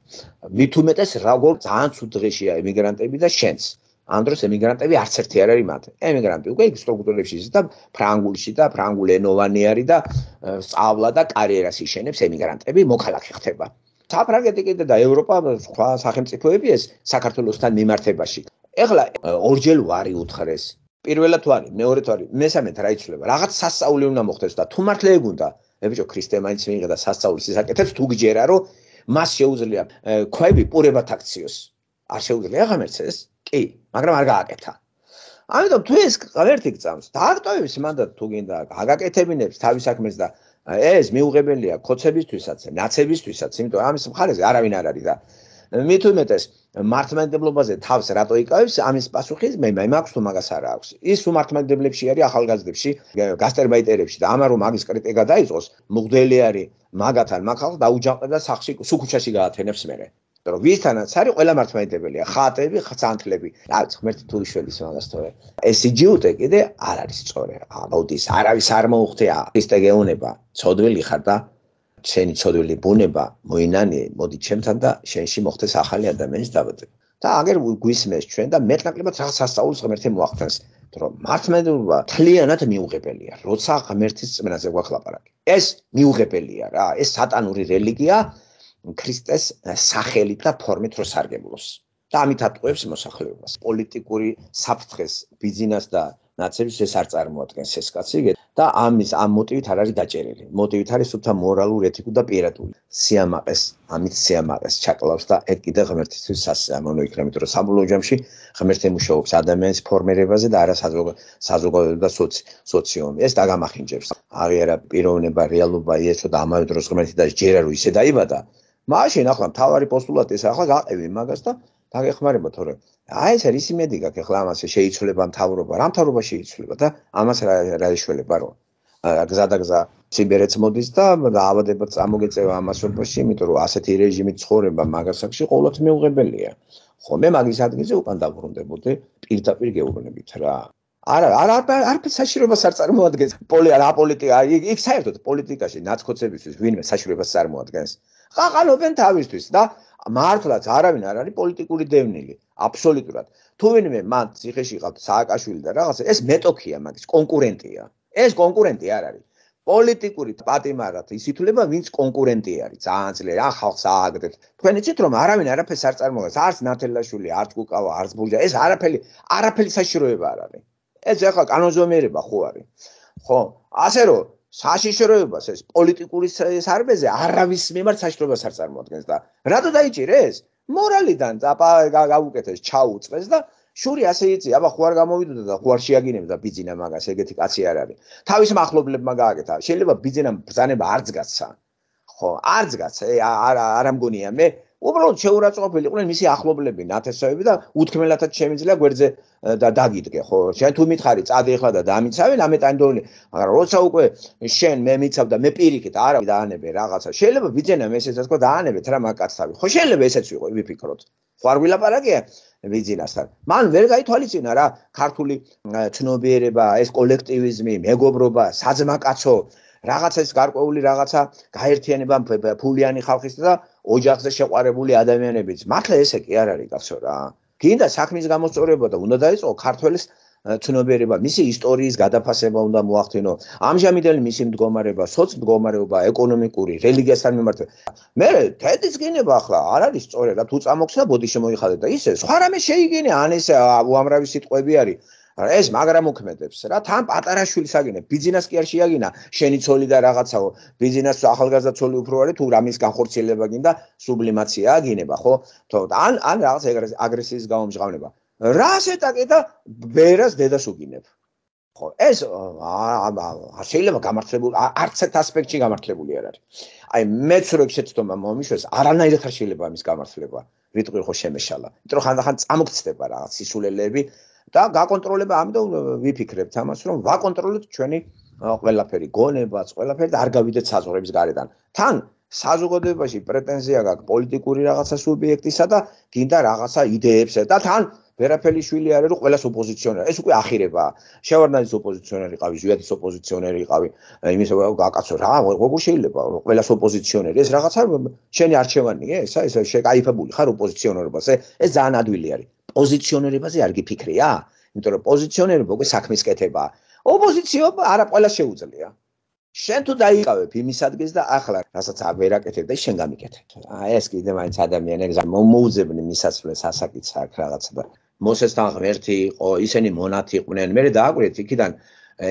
მით უმეტეს როგორ ძალიან ცუდ დღეშია ემიგრანტები და შენც. ამ დროს ემიგრანტები არც ერთი არ არის მათ. ემიგრანტი უკვე სტრუქტურებში ის და ფრანგულში და ფრანგულ ენოვანი არის და სწავლა და კარიერას იშენებს ემიგრანტები მოქალაქე ხდება. საფრანგეთი კიდე და ევროპა სხვა სახელმწიფოები ეს საქართველოსთან მიმართებაში. ეხლა ორჯერ ვარი უთხრეს. პირველად ვარი, მეორედ ვარი, მესამედ რა იცვლება. რაღაც სასწაული უნდა მოხდეს და თუ მართლა ეგ უნდა, მე ბიჭო ქრისტე მაინც მიიღე და სასწაულის ისაკეთებს თუ გიჯერა რომ მას შეუძლია ქვები პურებად აქციოს. არ შეუძლია ღმერთს ეს? კი, მაგრამ არ გააკეთა. ამიტომ თუ ეს ღმერთი გწამს, დააქტოვებს მანდა თუ გინდა აგაკეთებინებს თავის საქმეს და ეს მიუღებელია ქოცებისთვისაც, ნაცებისთვისაც, იმიტომ ამის მხარეზე არავინ არ არის და მით უმეტეს მართლმადიდებლობაზე თავს რატო იკავებს, ამის პასუხი მე მაქვს თუ მაგას არ აქვს. ის უმართლმადიდებლებში არის ახალგაზრდებში, გასტერბაიტერებში და ამან რომ მაგის კრიტიკა დაიწყოს, მუღდელი არის მაგათან მაგ ხალხს დაუჯანყდა სახში სუქუჩაში გაათენებს მერე. რომ ვისთანაც არის ყველა მართლმადიდებელია, ხატები, ხანთლები. რაც ღმერთი თუ იშველის მაგას თორე. ეს იჯიუტე კიდე არ არის სწორი. აუდის არავის არ მოუხდია. ქრისტე გეუნება, ცოდვილი ხარ და შენი ცოდვილი ბუნება მოინანიე, მოდი ჩემთან და შენში მოხდეს ახალი ადამიანის დაბადება. და აგერ გვისმეს ჩვენ და მეტნაკლებად რაღაც სასწაულს ღმერთი მოახდენს, რომ მართლმადიდებლობა თლიანად მიუღებელია, როცა ღმერთის წმენაზე გვახლაპარაკი. ეს მიუღებელია რა, ეს სატანური რელიგია ქრისტეს სახელით და ფორმით რო სარგებლობს. და ამით ატყუებს მოსახლეობას. პოლიტიკური საფრთხეს, ბიზნეს და ნაცებს ეს არ წარმოადგენს ეს კაცი და ამის ამ მოტივით არ არის დაჭერილი. მოტივით არის სულთა მორალურ, ეთიკურ და პირადული. სიამაყეს, ამით სიამაყეს ჩაკლავს და ეგ კიდე ღმერთისთვის სასიამოვნო იქნება, იმიტომ რომ საბოლოო ჯამში ღმერთი მუშაობს ადამიანის ფორმირებაზე და არა საზოგადოება და სოციუმი. ეს დაგამახინჯებს. აღიარა პიროვნება, რეალობა იესო და ამავე დროს ღმერთი და ჯერა რო ისე დაიბადა. მაშინ ახლა მთავარი პოსტულატი ეს ახლა გაყევი მაგას და დაგეხმარება თორე აი ეს არის იმედი გაქვს ახლა ამას შეიცვლება მთავრობა რა მთავრობა შეიცვლება და ამას რა რა იშველება რომ გზადაგზა სიბერეც მოდის და დაავადება წამოგეწევა ამასობაში იმიტომ რომ ასეთი რეჟიმით ცხოვრება მაგასაკში ყოველთვის მიუღებელია ხო მე მაგის ადგილზე უკან დაბრუნდებოდი პირდაპირ გეუბნებით რა არა არა არაფერს საშიშროებას არ წარმოადგენს რა პოლიტიკა იქ საერთოდ პოლიტიკაში ნაცკოცებისთვის ვინმე საშიშროებას წარმოადგენს ყაყალობენ თავისთვის და მართლაც არავინ არ არის პოლიტიკური დევნილი აბსოლუტურად თუ ვინმე მან ციხეში ყავთ სააკაშვილი და რაღაცა ეს მეტოქია მაგის კონკურენტია ეს კონკურენტი არ არის. პოლიტიკური პატიმარად ის ითვლება, ვინც კონკურენტი არის. ძალიან ძლიერი, ან ხალხს ააგდებს. თქვენ იცით რომ არავინ არაფერს არ წარმოადგენს, არც ნათელაშვილი, არც კუკავა, არც ბურჯა, ეს არაფერი, არაფერი საშიშროება არ არის. ეს ახლა კანონზომიერება ხო არის. ხო, ასე რომ საშიშროებას ეს პოლიტიკური სარბეზე არავის მიმართ საშიშროებას არ წარმოადგენს და რატო დაიჭირეს? მორალიდან გავუკეთეს, ჩაუწყეს და შური ასე იცი, აბა ხო არ გამოვიდოდა და ხო არ შეაგინებდა ბიძინა მაგას, ეგეთი კაცი არ არის. თავის მახლობლებმა გააკეთა. შეიძლება ბიძინამ ბრძანება არც გაცა. ხო, არც გაცა, არ არ ამგონია მე. უბრალოდ შეურაცხყოფილი იყვნენ მისი ახლობლები, ნათესავები და უთქმელათაც შემიძლია გვერდზე და დაგიდგე, ხო? შენ თუ მითხარი, წადი ახლა და დამიცავენ, ამეტანდოვლი, მაგრამ როცა უკვე შენ მე მიცავ და მე პირიქით არა დაანებე რაღაცა. შეიძლება ბიძენამ ესეც თქვა დაანებეთ რა მაგაცავი. ხო, შეიძლება ესეც ვიყო, ვიფიქროთ. ხო არ ვილაპარაკია ბიძინასთან. მან ვერ გაითვალისწინა რა ქართული ცნობიერება, ეს კოლექტივიზმი, მეგობრობა, საძმაკაცო, რაღაცა ეს გარკვეული რაღაცა გაერთიანება ფულიანი ხალხის და ოჯახზე შეყვარებული ადამიანების. მართლა ესე კი არ არის კაცო რა. გინდა საქმის გამოსწორება და უნდა დაიწყო ქართველის ცნობიერება, მისი ისტორიის გადაფასება უნდა მოახდინო. ამჟამიდელი მისი მდგომარეობა, სოცმდგომარეობა, ეკონომიკური, რელიგიასთან მიმართება. მე თედის გინება ახლა არ არის სწორად, რა თუ წამოხსნა ბოდი შემოიხადე და ისე სხვა რამე შეიგინე, ან ეს უამრავი სიტყვები არის. ეს მაგრამ მოქმედებს რა თან პატარა შვილს აგინებ ბიზნეს კი არ შეაგინა შენი ცოლი და რაღაცაო ბიზნეს ახალგაზრდა ცოლი უფრო არის თუ რამის განხორციელება გინდა სუბლიმაცია აგინება ხო თო ან ან რაღაც აგრესიის გამომჟღავნება რას ეტაკე და ბერას დედას უგინებ ხო ეს არ შეიძლება გამართლებული არც ერთ ასპექტში გამართლებული არ არის აი მეც რო შეცდომა მომიშვეს არანაირად არ შეიძლება ამის გამართლება ვიტყვი ხო შემეშალა იმიტომ რომ ხანდახან წამოგცდება რაღაც სისულელეები და გაკონტროლება ამიტომ ვიფიქრებთ ამას რომ ვაკონტროლოთ ჩვენი ყველაფერი გონებაც ყველაფერი და არ გავიდეთ საზღვრების გარედან თან საზოგადოებაში პრეტენზია გაქვს პოლიტიკური რაღაცა სუბიექტისა და გინდა რაღაცა იდეებზე და თან ვერაფერი შვილი არის რომ ყველას ოპოზიციონერი ეს უკვე ახირებაა შევარდნაძის ოპოზიციონერი ყავი ზვიადის ოპოზიციონერი ყავი იმის გაკაცო რა როგორ შეიძლება რომ ყველას ოპოზიციონერი ეს რაღაცა შენი არჩევანია ესა ეს შეკაიფებული ხარ ოპოზიციონერობაზე ეს ძალიან ადვილი არის პოზიციონერებაზე არ გიფიქრია იმიტომ რომ პოზიციონერობა უკვე საქმის კეთებაა ოპოზიციო არა ყველა შეუძლია შენ თუ დაიყავებ იმის ადგილს და ახლა რასაც ვერ აკეთებ და შენ გამიკეთებ აი ეს კიდე მაინც ადამიანებს მოუძებნი მისასვლელს ასაკიც აქვს რაღაცა და მოსესთან ღმერთი იყო ისინი მონათი იყვნენ მე დააკვირეთ იქიდან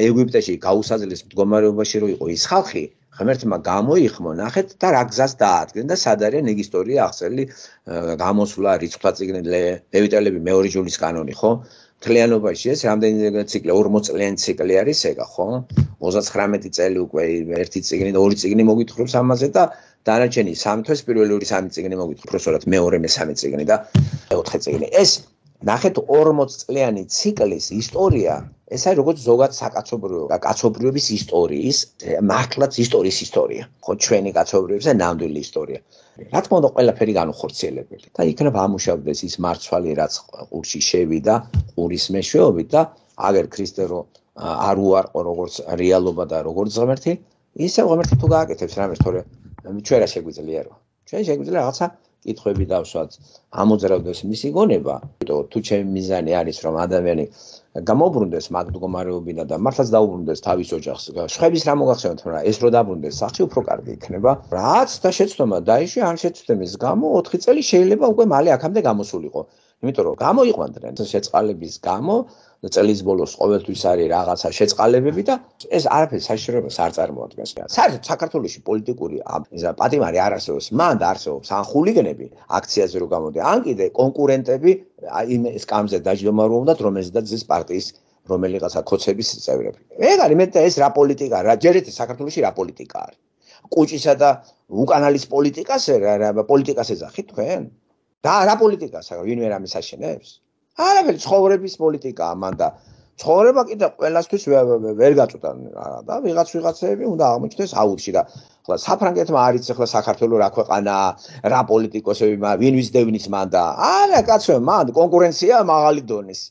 ეგვიპტეში გაუსაძლის მდგომარეობაში რო იყო ის ხალხი ღმერთმა გამოიხმო ნახეთ და რა გზას დაადგენ და სად არის ეგ ისტორია აღწერილი გამოსვლა რიცხვთა წიგნი ლევიტელები მეორე ჯულის კანონი ხო მთლიანობაში ეს რამდენი ციკლი ორმოც წლიანი ციკლი არის ეგა ხო ოცდათხმეტი წელი უკვე ერთი წიგნი და ორი წიგნი მოგვითხრობს ამაზე და დანარჩენი სამი თვეს პირველი ორი სამი წიგნი მოგვითხრობს უბრალოდ მეორე მესამე წიგნი და მეოთხე წიგნი ეს ნახეთ ორმოც წლიანი ციკლის ისტორია ეს არის როგორც ზოგად საკაცობრიობა კაცობრიობის ისტორიის მართლაც ისტორიის ისტორია ხო ჩვენი კაცობრიობის და ნამდვილი ისტორია რა თქმა უნდა ყველაფერი განუხორციელებელი და იქნებ ამუშავდეს ის მარცვალი რაც ყურში შევიდა ყურის მეშვეობით და აგერ ქრისტე რო არ უარყო როგორც რეალობა და როგორც ღმერთი ისე ღმერთი თუ გააკეთებს რამეს თორე ჩვენ რა შეგვიძლია რომ ჩვენ შეგვიძლია რაღაცა კითხვები დავსვათ ამოძრავდეს მისი გონება თუ ჩემი მიზანი არის რომ ადამიანი გამობრუნდეს მაგ მდგომარეობიდან და მართლაც დაუბრუნდეს თავის ოჯახს შეხების რა მოგახსენოთ რა ეს რო დაბრუნდეს სახში უფრო კარგი იქნება რაც და შეცდომა დაიშვი ან შეცდომის გამო ოთხი წელი შეიძლება უკვე მალე აქამდე გამოსულიყო იმიტომ რომ გამოიყვანდნენ შეწყალების გამო წელის ბოლოს ყოველთვის არის რაღაცა შეწყალებები და ეს არაფერი საშიშროებას არ წარმოადგენს. საერთოდ საქართველოში პოლიტიკური პატიმარი არ არსებობს. მან არსებობს ან ხულიგნები აქციაზე რო გამოდი, ან კიდე კონკურენტები იმ სკამზე დაჯდომა რომ უნდათ რომელზედაც ზის პარტიის რომელიღაცა ქოცების წევრები. ეგ არის მე ეს რა პოლიტიკა რა ჯერეთ საქართველოში რა პოლიტიკა არის. კუჭისა და უკანალის პოლიტიკას რა პოლიტიკას ეძახით თქვენ? და რა პოლიტიკას ვინმე რამის აშენებს? არაფერი ცხოვრების პოლიტიკაა მან და ცხოვრება კიდე ყველასთვის ვერ გაწუდა და ვიღაც ვიღაცები უნდა აღმოჩნდეს აუჩი და ხლა საფრანგეთმა არის ახლა საქართველოს რა ქვეყანაა რა პოლიტიკოსები ვინ ვის დევნის მან და არა კაცო მან კონკურენცია მაღალი დონის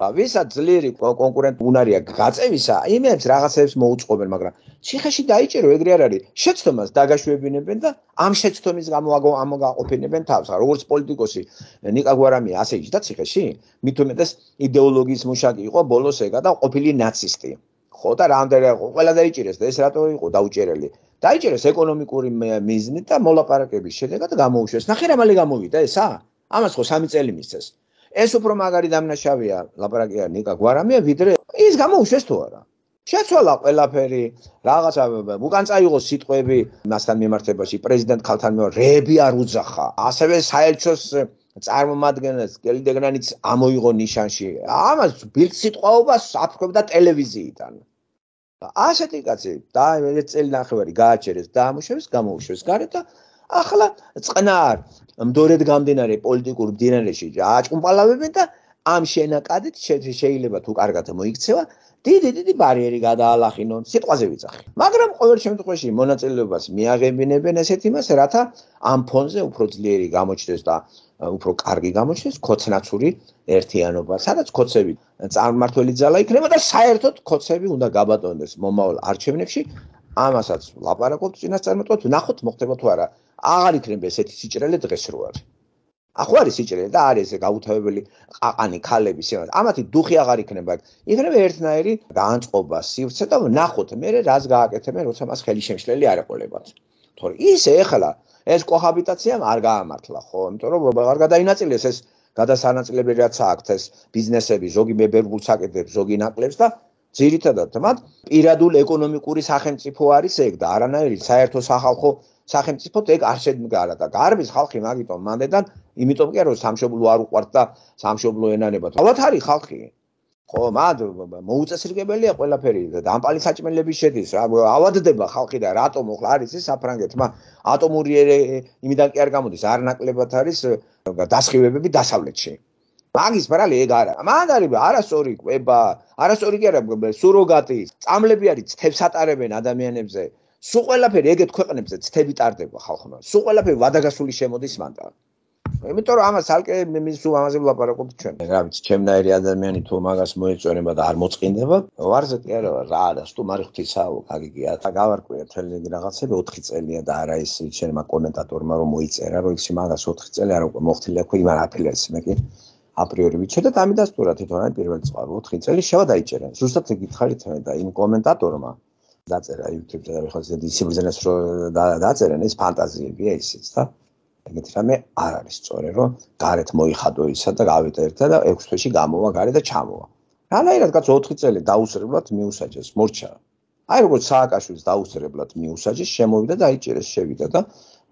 და ვისაც ძლიერი კონკურენტი უნარია გაწევისა იმებს რაღაცებს მოუწყობენ მაგრამ ციხეში დაიჭირო ეგრე არ არის შეცდომას დაგაშვებინებენ და ამ შეცდომის გამო ამოგაყოფინებენ თავს როგორც პოლიტიკოსი ნიკა გვარამია ასე იჯდა ციხეში მით უმეტეს იდეოლოგიის მუშაკი იყო ბოლოს ეგა და ყოფილი ნაცისტი ხო და რამდენი ყველა დაიჭირეს და ეს რატო იყო დაუჭერელი დაიჭერეს ეკონომიკური მიზნით და მოლაპარაკების შედეგად გამოუშვეს ნახე რა მალე გამოვიდა ესა ამას ხო სამი წელი მისცეს ეს უფრო მაგარი დამნაშავეა ლაპარაკია ნიკა გვარამია ვიდრე ის გამოუშვეს თუ არა შეცვალა ყველაფერი რაღაცა უკან წაიღო სიტყვები მასთან მიმართებაში პრეზიდენტ ქალთან რეები არ უძახა ასევე საელჩოს წარმომადგენლს გელდეგნანიც ამოიღო ნიშანში ამას ბილდ სიტყვაობას აფრქვებდა ტელევიზიიდან ასეთი კაცი და ერთ წელი ნახევარი გააჩერეს და ამუშავეს გამოუშვეს გარეთ და ახლა წყნარ მდორედ გამდინარე პოლიტიკურ მდინარეში აჭკუმპალავებენ და ამ შენაკადით შეიძლება თუ კარგად მოიქცევა დიდი დიდი ბარიერი გადაალახინონ სიტყვაზე ვიძახი მაგრამ ყოველ შემთხვევაში მონაწილეობას მიაღებინებენ ესეთ იმას რათა ამ ფონზე უფრო ძლიერი გამოჩნდეს და უფრო კარგი გამოჩნდეს ქოცნაცური ერთიანობა სადაც ქოცები წარმმართველი ძალა იქნება და საერთოდ ქოცები უნდა გაბატონდეს მომავალ არჩევნებში ამასაც ლაპარაკობთ წინასწარმეტყველად ვნახოთ მოხდება თუ არა აღარ იქნება ესეთი სიჭრელე დღეს რო არის ახო არის სიჭრელე და არის ეს გაუთავებელი ყაყანი ქალები სიმართლე ამათი დუხი აღარ იქნება იქნება ერთნაირი განწყობა სივრცე და ვნახოთ მე რას გააკეთებენ როცა მას ხელი შემშლელი არ ეყოლებათ თორე ისე ეხლა ეს კოჰაბიტაციამ არ გაამართლა ხო იმიტომ რომ არ გადაინაწილეს ეს გადასანაწილებელი რაც აქვთ ეს ბიზნესები ზოგი მებერგულს აკეთებს ზოგი ნაკლებს და ძირითადად მათ პირადულ ეკონომიკური სახელმწიფო არის ეგ და არანაირი საერთო სახალხო სახელმწიფოდ ეგ არ შედგარა და გარბის ხალხი მაგიტომ მანდედან იმიტომ კი რომ სამშობლო არ უყვართ და სამშობლო ენანებათ ალბათ არის ხალხი ხო მად მოუწესრიგებელია ყველაფერი და დამპალი საჭმელების შედის რა ავადდება ხალხი და რატომ ახლა არის ეს საფრანგეთმა ატომური იმიდან კი არ გამოდის არ ნაკლებად არის დასხივებები დასავლეთში მაგის ბრალი ეგ არა მან არის არასწორი კვება არასწორი კი არა სუროგატი წამლები არის ცთებს ატარებენ ადამიანებზე სულ ყველაფერი ეგეთ ქვეყნებზე ცთები ტარდება ხალხმა სულ ყველაფერი ვადაგასული შემოდის მანდ იმიტომ რომ ამას ალკე მის სულ ამაზე ვლაპარაკობთ ჩვენ რა ვიცი ჩემნაირი ადამიანი თუ მაგას მოეწონება და არ მოწყინდება ვარზე კი არა რა და სტუმარი ღვთისაო გაგიგია და გავარკვია თელი რაღაცები ოთხი წელია და არა ის ჩვენ მაგ კომენტატორმა რომ მოიწერა რომ ის მაგას ოთხი წელი არ უკვე მოხდილი აქვს იმან აფილეს მე კი აპრიორი ვიცოდა და ამიდასტურა თვითონ აი პირველი წყარო ოთხი წელი შევა დაიჭერა ზუსტად ეგ გითხარით და იმ კომენტატორმა დაწერა YouTube-ზე და ხალხს დისციპლინას რო დაწერენ ეს ფანტაზიებია ისიც და ეგეთი რამე არ არის სწორი რომ გარეთ მოიხადო ისა და გავიდა ერთა და ექვს თვეში გამოვა გარეთ და ჩამოვა რანაირად კაც ოთხი წელი დაუსრებლად მიუსაჯეს მორჩა აი როგორც სააკაშვილის დაუსრებლად მიუსაჯეს შემოვიდა და აიჭერეს შევიდა და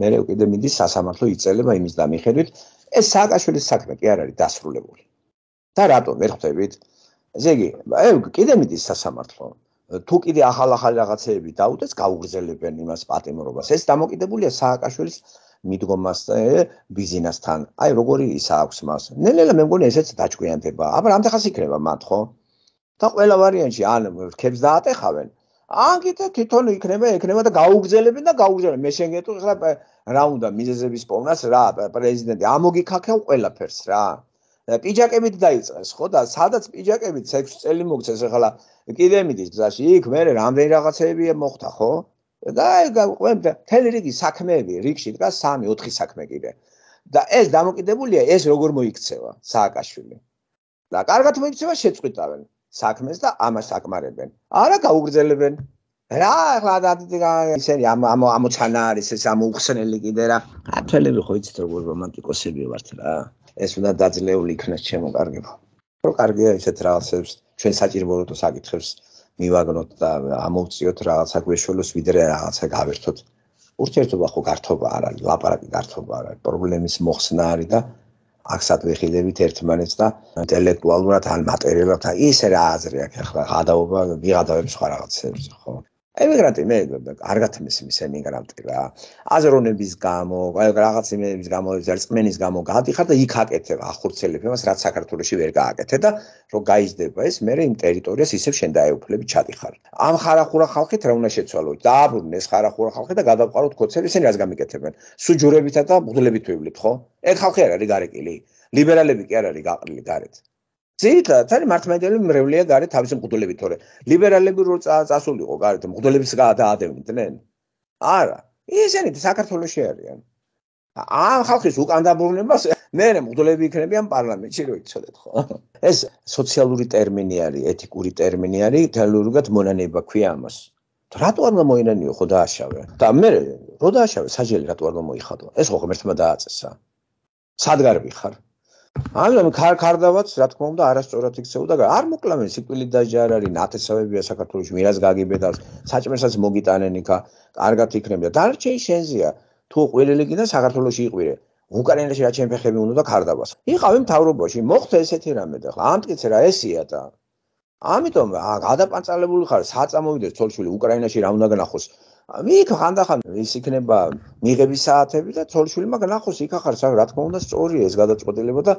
მე კიდე მიდის სასამართლო იწელება იმის და მიხედვით ეს სააკაშვილის საქმე კი არ არის დასრულებული და რატომ ვერ ხვდებით ესე იგი კიდე მიდის სასამართლო თუ კიდე ახალ-ახალ რაღაცეები დაუდეს გაუგრძელებენ იმას პატიმრობას ეს დამოკიდებულია სააკაშვილის მიდგომასთან ბიზნესთან აი როგორი ისა აქვს მას ნელ-ნელა მე მგონი ესეც დაჭკვიანდება აბა რამდენხანს იქნება მათ ხო და ყველა ვარიანტში ან რქებს დაატეხავენ ან კიდე თვითონ იქნება იქნება და გაუგრძელებენ და გაუგრძელებენ მე შეგეტყვი ხლა რა უნდა მიზეზების პოვნას რა პრეზიდენტი ამოგიქაქევ ყველაფერს რა პიჯაკებით დაიწყეს ხო და სადაც პიჯაკებით ექვს წელი მოგცეს ახლა კიდე მიდის გზაში იქ მე რამდენი რაღაცეებია მოხდა ხო და ყველა თელი რიგი საქმეები რიგში დგას სამი ოთხი საქმე კიდე და ეს დამოკიდებულია ეს როგორ მოიქცევა სააკაშვილი და კარგად მოიქცევა შეწყვიტავენ საქმეს და ამას აკმარებენ არა გაუგრძელებენ რა ახლა ისინი ამ ამოცანა არის ეს ამოუხსნელი კიდე რა თელები ხო იცით როგორ რომანტიკოსები ვართ რა ეს უნდა დაძლეული იქნას ჩემო კარგებო რო კარგია ისეთ რაღაცებს ჩვენ საჭიროებო საკითხებს მივაგნოთ და ამოვწიოთ რაღაცა გვეშველოს ვიდრე რაღაცა გავერთოთ ურთიერთობა ხო გართობა არ არის ლაპარაკი გართობა არ არის პრობლემის მოხსნა არის და აქ ვიხილებით ერთმანეთს და ინტელექტუალურად ან მატერიალურად ისე რა აზრი აქვს ახლა გადაობა ვიღადავებს სხვა რაღაცებს ხო ემიგრანტი მე კარგად მისმის ემიგრანტი რა აზროვნების გამო რაღაც იმების გამო ზერწმენის გამო გადიხარ და იქ აკეთებ ახორცელებ იმას რაც საქართველოში ვერ გააკეთე და რომ გაიზრდება ეს მე იმ ტერიტორიას ისევ შენ დაეუფლები ჩადიხარ ამ ხარახურა ხალხით რა უნდა შეცვალოთ დააბრუნდნენ ეს ხარახურა ხალხი და გადავყაროთ ქოცები ისინი რას გამიკეთებენ სუჯურებითა და მღვდლებით ვივლით ხო ეგ ხალხი არ არის გარეკილი ლიბერალები კი არ არის გაყრილი გარეთ ძირითადად არის მართლმადიდებელი მრევლია გარეთ თავისი მღვდლებით თორე ლიბერალები რო წასულიყო გარეთ მღვდლებს გადაადევნიდნენ არა ისინი საქართველოში არიან ამ ხალხის უკან დაბრუნებას მე მგლები იქნებიან პარლამენტში რო იცოდეთ ხო ეს სოციალური ტერმინი არის ეთიკური ტერმინი არის თელურგად მონანება ქვია ამას რატო არ გამოინანიო ხო დააშავე და მე რო დააშავე საჯელი რატო არ გამოიხადო ეს ხო ღმერთმა დააწესა სადგარბი ხარ ამიტომ ხარ ხარდავაც რა თქმა უნდა არასწორად იქცეოდა არ მოკლავენ სიკვდილით დაჟე არ არის ნათესავებია საქართველოში მირას გაგიბედავს საჭმელსაც მოგიტანენ იქა კარგად იქნება დარჩენი შენზეა თუ ყველელი კიდე საქართველოში იყვირე უკრაინაში რა ჩემი ფეხები უნდა და ხარდავას იყავი მთავრობაში მოხდა ესეთი რამე და ხა ამტკიცე რა ესია და ამიტომ გადაპანწალებული ხარ საწამოვიდეს თოლშვილი უკრაინაში რა უნდა გნახოს მიქ ხანდახან ის იქნება მიღების საათები და თოლშვილმა გნახოს იქ ახარ რა თქმა უნდა სწორია ეს გადაწყვეტილება და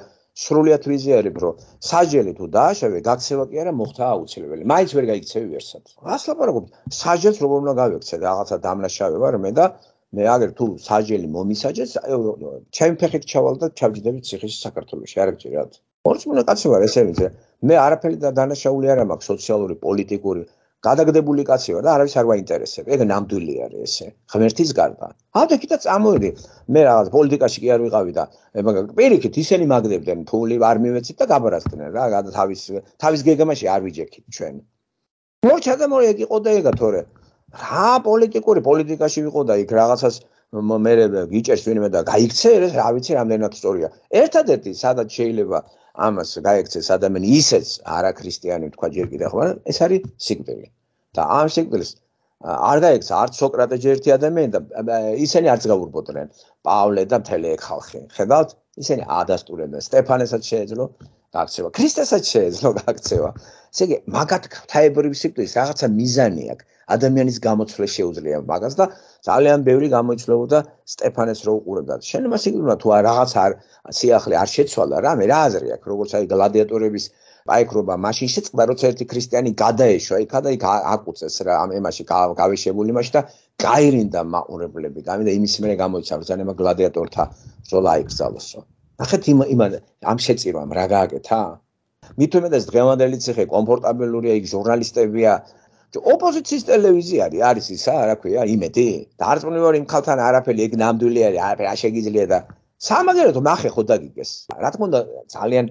სრულიად ვიზიარებ რომ საჯელი თუ დააშავე გაქცევა კი არა მოხდა აუცილებელი მაინც ვერ გაიქცევი ვერსად რას ლაპარაკობ საჯელს როგორ უნდა გავიქცე რაღაცა დამნაშავე ვარ მე და მე აგერ თუ საჯელი მომისაჯეს ჩემი ფეხით ჩავალ და ჩავჯდები ციხეში საქართველოში არ გჭირად ორწმუნე კაცი ვარ ესე ვიცი მე არაფერი და დანაშაული არ მაქვს სოციალური პოლიტიკური გადაგდებული კაცი ვარ და არავის არ ვაინტერესებს ეგ ნამდვილი არის ესე ღმერთის გარდა ავდე კიდე წამოვიდი მე რაღაც პოლიტიკაში კი არ ვიყავი და პირიქით ისინი მაგდებდნენ ფული არ მივეცით და გაბარასდნენ რა თავის თავის გეგმაში არ ვიჯექით ჩვენ მორჩა და მორე ეგ იყო და ეგა თორე რა პოლიტიკური პოლიტიკაში ვიყო და იქ რაღაცას მე გიჭერს ვინმე და გაიქცე ეს რა ვიცი რამდენად სწორია ერთადერთი სადაც შეიძლება ამას გაიქცეს ადამიანი ისეც არაქრისტიანი თქვა ჯერ კიდევ ხო ეს არის სიკვდილი და ამ სიკვდილს არ გაიქცა არც სოკრატე ჯერ ერთი ადამიანი და ისინი არც გაურბოდნენ პავლე და მთელი ეგ ხალხი ხედავთ ისინი ადასტურებდნენ სტეფანესაც შეეძლო გაქცევა ქრისტესაც შეეძლო გაქცევა ესე იგი მაგათ ღვთაებრივი სიკვდილის რაღაცა მიზანი აქვს ადამიანის გამოცვლა შეუძლია მაგას და ძალიან ბევრი გამოიცვლებოდა სტეფანეს რო უყურებდა შენმა სიკვდილმა თუ რაღაც არ სიახლე არ შეცვალა რა მე რა აზრი აქვს როგორც აი გლადიატორების პაიკრობა მაშინ შეწყდა როცა ერთი ქრისტიანი გადაეშვა იქა და იქ აკუწეს რა ამ ემაში გავეშებული იმაში და გაირინდა მაყურებლები გამიდა იმის მერე გამოიცა ბრძანება გლადიატორთა ბრძოლა აიკრძალოსო ნახეთ იმ იმ ამ შეწირვამ რა გააკეთა მით უმეტეს დღევანდელი ციხე კომფორტაბელურია იქ ჟურნალისტებია ოპოზიციის ტელევიზია არის ისა რა ქვია იმედი დარწმუნებული ვარ იმ ხალხთან არაფერი ეგ ნამდვილი არის არაფერი არ შეგიძლია და სამაგერად ნახე ხო დაგიგეს რა თქმა უნდა ძალიან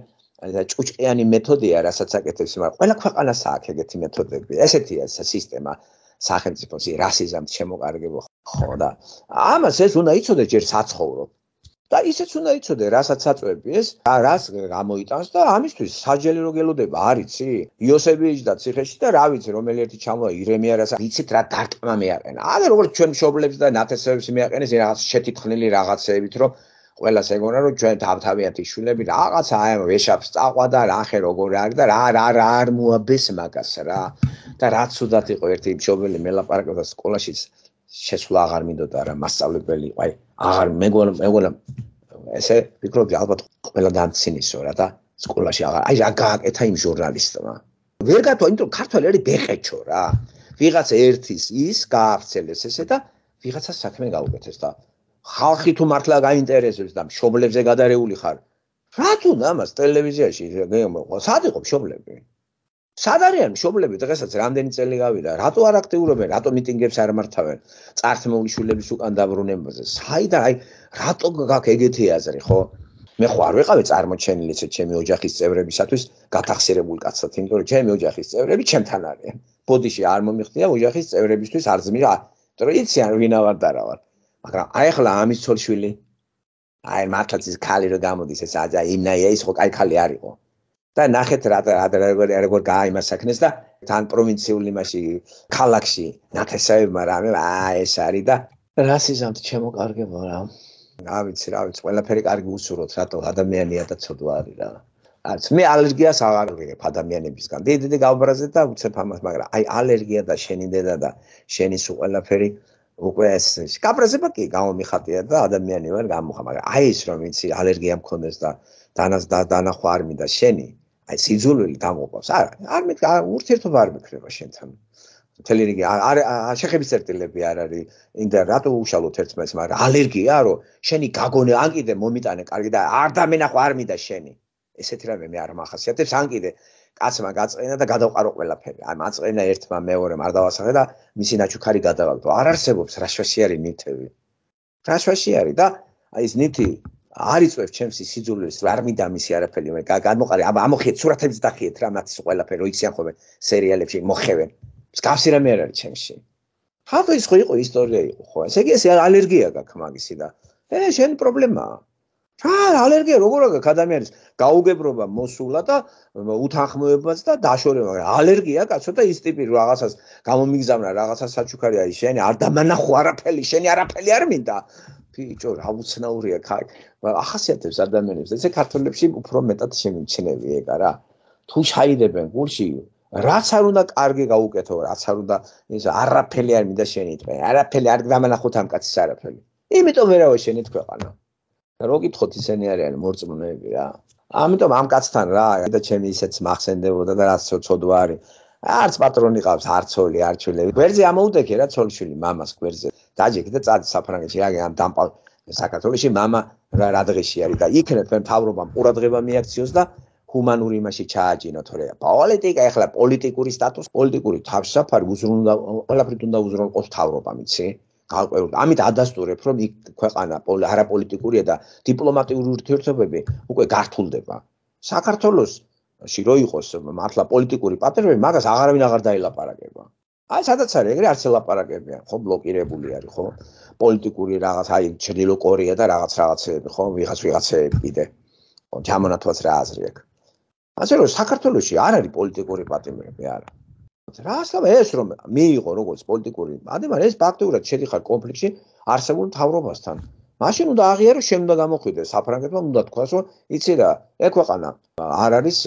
ჭუჭყიანი მეთოდია რასაც აკეთებს მაგრამ ყველა ქვეყანას აქვს ეგეთი მეთოდები ესეთია სისტემა სახელმწიფოს რასიზმით შემოკარგებო ხო და ამას ეს უნდა იცოდე ჯერ საცხოვრო და ისეც უნდა იცოდე რასაც აწვევი ეს რას გამოიტანს და ამისთვის საჯელი რო გელოდება არიცი იოსები იჯდა ციხეში და რა ვიცი რომელი ერთი ჩამოვა ირემია რასაც იცით რა დარტყმა მეაყენა აგერ როგორც ჩვენ მშობლებს და ნათესავებს მეაყენეს რაღაც შეთითხნილი რაღაცეებით რომ ყველას ეგონა რომ ჩვენ თავთავიანთი შვილები რაღაცა აი ვეშაპს წაყვა და რახე როგორ არის და რა რა რა არ მოაბეს მაგას რა და რაც უდათ იყო ერთი მშობელი მელაპარაკობდა სკოლაში შესვლა აღარ მინდოდა რა მასწავლებელი აი აღარ მეგონა მეგონა ესე ვფიქრობდი ალბათ ყველა დამცინისო რა და სკოლაში აღარ აი რა გააკეთა იმ ჟურნალისტმა ვერ გათვა იმიტომ ქართველი არის ბეხეჩო რა ვიღაც ერთის ის გაავრცელეს ესე და ვიღაცას საქმე გაუკეთეს და ხალხი თუ მართლა გაინტერესებს და მშობლებზე გადარეული ხარ რა თუ ამას ტელევიზიაში სად იყო მშობლები სად არიან მშობლები დღესაც რამდენი წელი გავიდა რატო არ აქტიურობენ რატო მიტინგებს არ მართავენ წართმეული შვილების უკან დაბრუნებაზე საიდან აი რატო გაქვს ეგეთი აზრი ხო მე ხო არ ვიყავი წარმოჩენილი ესე ჩემი ოჯახის წევრებისათვის გათახსირებული კაცად იმიტომ რომ ჩემი ოჯახის წევრები ჩემთან არიან ბოდიში არ მომიხდია ოჯახის წევრებისთვის არ ძმირა იმიტომ რომ იციან ვინა ვარ და რა ვარ მაგრამ აი ახლა ამის ცოლშვილი აი მართლაც ის ქალი რო გამოდის ეს აძა იმნაია ის ხო კაი ქალი არ იყო და ნახეთ რა როგორ როგორ გააიმა საქმეს და თან პროვინციული მასი ქალაქში ნათესავებმა რამე აი ეს არის და რასიზმით შემოკარგება რა რა ვიცი რა ვიცი ყველაფერი კარგი უსურვოთ რატო ადამიანია და ცოდვა არის რა არც მე ალერგიას აღარ ვიღებ ადამიანებისგან დიდი დიდი გავბრაზე და უცებ ამას მაგრამ აი ალერგია და შენი დედა და შენი სულ ყველაფერი უკვე ეს გაბრაზება კი გამომიხატია და ადამიანი ვარ გამოხა მაგრამ აი ეს რომ იცი ალერგია მქონდეს და დანას და დანახვა არ მინდა შენი აი სიძულვილი გამოყავს არა არ მე ურთიერთობა არ მეკრება შენთან მთელი რიგი არ შეხების წერტილები არ არის ინდა რატო უშალოთ ერთმანეთს მაგრამ ალერგია რომ შენი გაგონე ან კიდე მომიტანე კარგი და არ დამენახვა არ მინდა შენი ესეთი რამე მე არ მახასიათებს ან კიდე კაცმა გაწყენა და გადავყარო ყველაფერი აი მაწყენა ერთმა მეორემ არ დავასახე და მისი ნაჩუქარი გადავალდო არ არსებობს რაშვაში არის ნივთები რაშვაში არის და აი ეს ნივთი არ იწვევს ჩემს სიძულვილს, არ მინდა მისი არაფერი, მე გამოყარე, ამოხიეთ სურათებს დახიეთ რა მათს ყველაფერი, რო იციან ხოლმე სერიალებში მოხევენ. მსგავსი რამე არ არის ჩემში. ხალხო ის ხო იყო ისტორია იყო ხო? ესე იგი ეს ალერგია გაქვს მაგისი და ე შენი პრობლემაა. რა ალერგია როგორ აქვს ადამიანის გაუგებრობა მოსულა და უთანხმოებაც და დაშორება, მაგრამ ალერგია კაცო და ის ტიპი რაღაცას გამომიგზავნა რაღაცას საჩუქარი არის შენი არ დამანახო არაფერი, შენი არაფერი არ მინდა. ბიჭო, რა უცნაურია ხარ. ახასიათებს ადამიანებს. ესე ქართველებში უფრო მეტად შემიჩნევი ეგა რა. თუ ჩაიდებენ გულში, რაც არ უნდა კარგი გაუკეთო, რაც არ უნდა ის არაფერი არ მინდა შენი თქვენ. არაფერი არ დამანახოთ ამ კაცის არაფერი. იმიტომ ვერავე შენი თქვეყანა. რო გითხოთ ისენი არიან მორწმუნეები რა. ამიტომ ამ კაცთან რა და ჩემი ისეც მახსენდებოდა და რაც ცოდვა არის. არც პატრონი ყავს, არც ცოლი, არც შვილები. გვერდზე ამოუდექე რა ცოლ-შვილი მამას გვერდზე. დაჯექი და წადი საფრანგეთში რა ამ დამპალ საქართველოში მამა რა რადღეში არის და იქნებ თქვენ მთავრობამ ყურადღება მიაქციოს და ჰუმანური იმაში ჩააჯინოთ რა. პოლიტიკა ეხლა პოლიტიკური სტატუსი, პოლიტიკური თავშესაფარი უზრუნდა ყველაფრით უნდა უზრუნველყოს მთავრობამ, იცი? გავყვევრ. ამით ადასტურებ, რომ იქ ქვეყანა არაპოლიტიკურია და დიპლომატიური ურთიერთობები უკვე გართულდება. საქართველოსში რო იყოს მართლა პოლიტიკური პატრონები, მაგას აღარავინ აღარ დაილაპარაკება. აი სადაც არის, ეგრე არც ელაპარაკებიან, ხო, ბლოკირებული არის, ხო? პოლიტიკური რაღაც, აი ჩრდილო კორეა და რაღაც რაღაცეები, ხო, ვიღაც ვიღაცეები კიდე. ხო, ჩამონათვაც რა აზრი აქვს. ასე რომ საქართველოში არ არის პოლიტიკური პატრონები, არა. რას ამ ეს რომ მიიღო როგორც პოლიტიკური ადამიანი ეს ფაქტურად შედიხარ კონფლიქტში არსებულ მთავრობასთან. მაშინ უნდა აღიაროს შენ უნდა გამოხვიდეს საფრანგეთმა უნდა თქვას რომ იცი რა ეგ ქვეყანა არ არის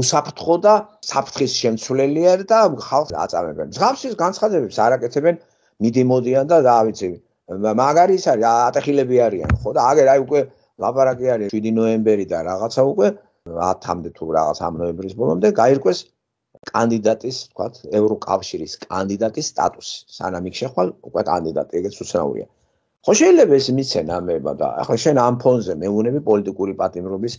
უსაფრთხო და საფრთხის შემცვლელია და ხალხს აწამებენ. მსგავსის განცხადებებს არ აკეთებენ მიდიმოდიან და რა ვიცი მაგარი ის არის ატეხილები არიან ხო და აგერ აი უკვე ლაპარაკი არის შვიდი ნოემბერი და რაღაცა უკვე ათამდე თუ რაღაც ამ ნოემბრის ბოლომდე გაირკვეს კანდიდატის, თქვათ, ევროკავშირის კანდიდატის სტატუსი. სანამ იქ შეხვალ, უკვე კანდიდატი, ეგეც უცნაურია. ხო შეიძლება ეს მიცენ ამება და ახლა შენ ამ ფონზე მეუნები პოლიტიკური პატიმრობის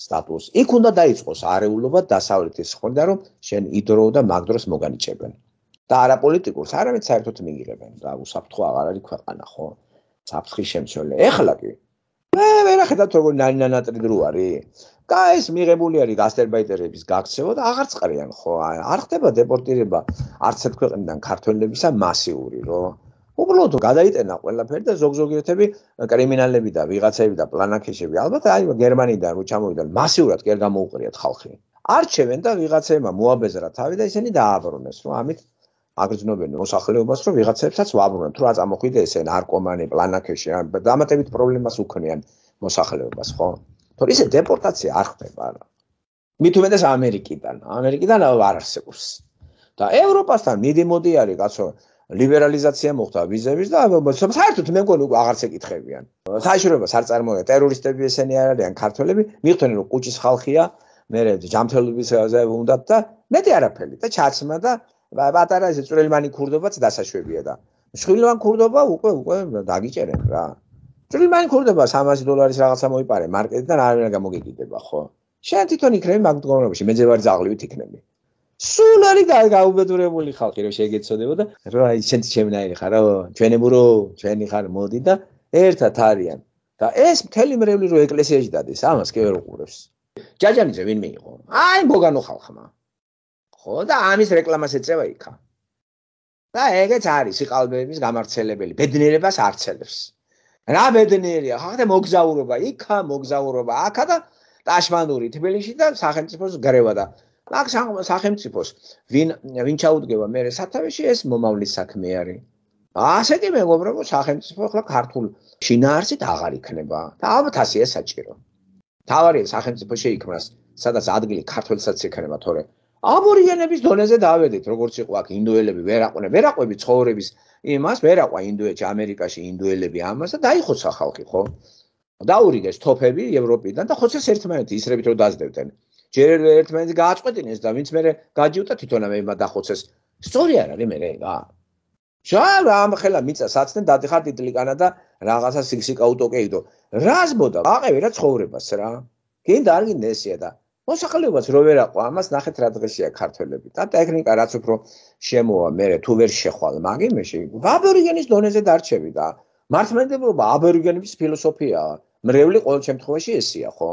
სტატუსს. იქ უნდა დაიწყოს არეულობა დასავლეთის ხონდა, რომ შენ იდრო და მაგდროს მოგანიჭებენ. და არაპოლიტიკურს არავით საერთოდ მიიღებენ და უსაფრთხო აღარ არის ქვეყანა, ხო? საფრთხის შემცველი. ეხლა კი მე ვერ ახედავთ როგორ ნანატრი დრო არის. და ეს მიღებული არის გასტერბაიტერების გაქცევა და აღარ წყრიან ხო არ ხდება დეპორტირება არც ერთ ქვეყნიდან ქართველებისა მასიური რო უბრალოდ გადაიტენა ყველაფერი და ზოგ-ზოგიერთები კრიმინალები და ვიღაცები და პლანაკეშები ალბათ აი გერმანიიდან რო ჩამოვიდნენ მასიურად კი არ გამოუყრიათ ხალხი არჩევენ და ვიღაცებმა მოაბეზრა თავი და ისინი დააბრუნეს რომ ამით აგრძნობენ მოსახლეობას რომ ვიღაცებსაც ვაბრუნებთ რომ აწამოხვიდე ესე ნარკომანი პლანაკეში დამატებით პრობლემას უქმნიან მოსახლეობას ხო თორე ისე დეპორტაცია არ ხდება არა. მით უმეტეს ამერიკიდან. ამერიკიდან არ არსებობს. და ევროპასთან მიდიმოდი არის კაცო ლიბერალიზაცია მოხდა ვიზების და საერთოდ მე მგონი უკვე აღარც ეკითხებიან. საერთოდ არ წარმოება ტერორისტები ესენი არ არიან ქართველები, მიხვდნენ რომ კუჭის ხალხია, მე ჯამთველობისაზე უნდათ და მეტი არაფერი და ჩაცმა და პატარა ესე წვრილმანი ქურდობაც დასაშვებია და შვილოვან ქურდობა უკვე უკვე დაგიჭერენ რა. წვრილმანი ქურდობა სამასი დოლარის რაღაცა მოიპარე მარკეტიდან არ ვერა გამოგეკიდება ხო? შენ თვითონ იქნები მაგ მდგომარეობაში მეძევარი ძაღლივით იქნები. სულ არის გაუბედურებული ხალხი რომ შეგეცოდებო და რა აი შენ შემნაირი ხარ რა ჩვენებურო ჩვენი ხარ მოდი და ერთად არიან და ეს მთელი მრევლი რო ეკლესიაში დადეს ამას კი ვერ უყურებს. ჯაჯანიძე ვინ მიიღო? აი მოგანო ხალხმა. ხო და ამის რეკლამას ეწევა იქა. და ეგეც არის სიყალბეების გამართლებელი ბედნიერებას არცელებს. რა ბედნიერია ხა და მოგზაურობა იქა მოგზაურობა აქა და ტაშმანური თბილისში და სახელმწიფოს გრევა და აქ სახელმწიფოს ვინ ვინ ჩაუდგება მე სათავეში ეს მომავლის საქმე არის. ასე კი მეგობრებო სახელმწიფო ახლა ქართულ შინაარსით აღარ იქნება და ალბათ ასე საჭირო. თავარი სახელმწიფო შეიქმნას სადაც ადგილი ქართველსაც იქნება თორე აბორიგენების დონეზე დავედით როგორც იყო აქ ინდოელები ვერ აყვნენ ვერ აყვები ცხოვრების იმას ვერ აყვა ინდოეთში ამერიკაში ინდოელები ამას და დაიხოცა ხალხი ხო დაურიგეს თოფები ევროპიდან და ხოცეს ერთმანეთი ისრებით რომ დაძდებდნენ ჯერ ერთმანეთი გააწყვეტინეს და ვინც მე გაჯიუტა თვითონ ამება დახოცეს სწორი არ არის მე რა შა რამ ხელა მიწა საცდნენ დადიხარ ტიტლიკანა და რაღაცა სიქსიკა უტოკეიდო რას მოდა აყევი რა ცხოვრებას რა გინდა არ გინდა ესია და მოსახლეობას რო ვერ აყვა ამას ნახეთ რა დღეშია ქართველები და ტექნიკა რაც უფრო შემოვა მე თუ ვერ შეხვალ მაგ იმეში აბორიგენის დონეზე დარჩები და მართლმადიდებლობა აბორიგენების ფილოსოფიაა. მრევლი ყოველ შემთხვევაში ესია, ხო?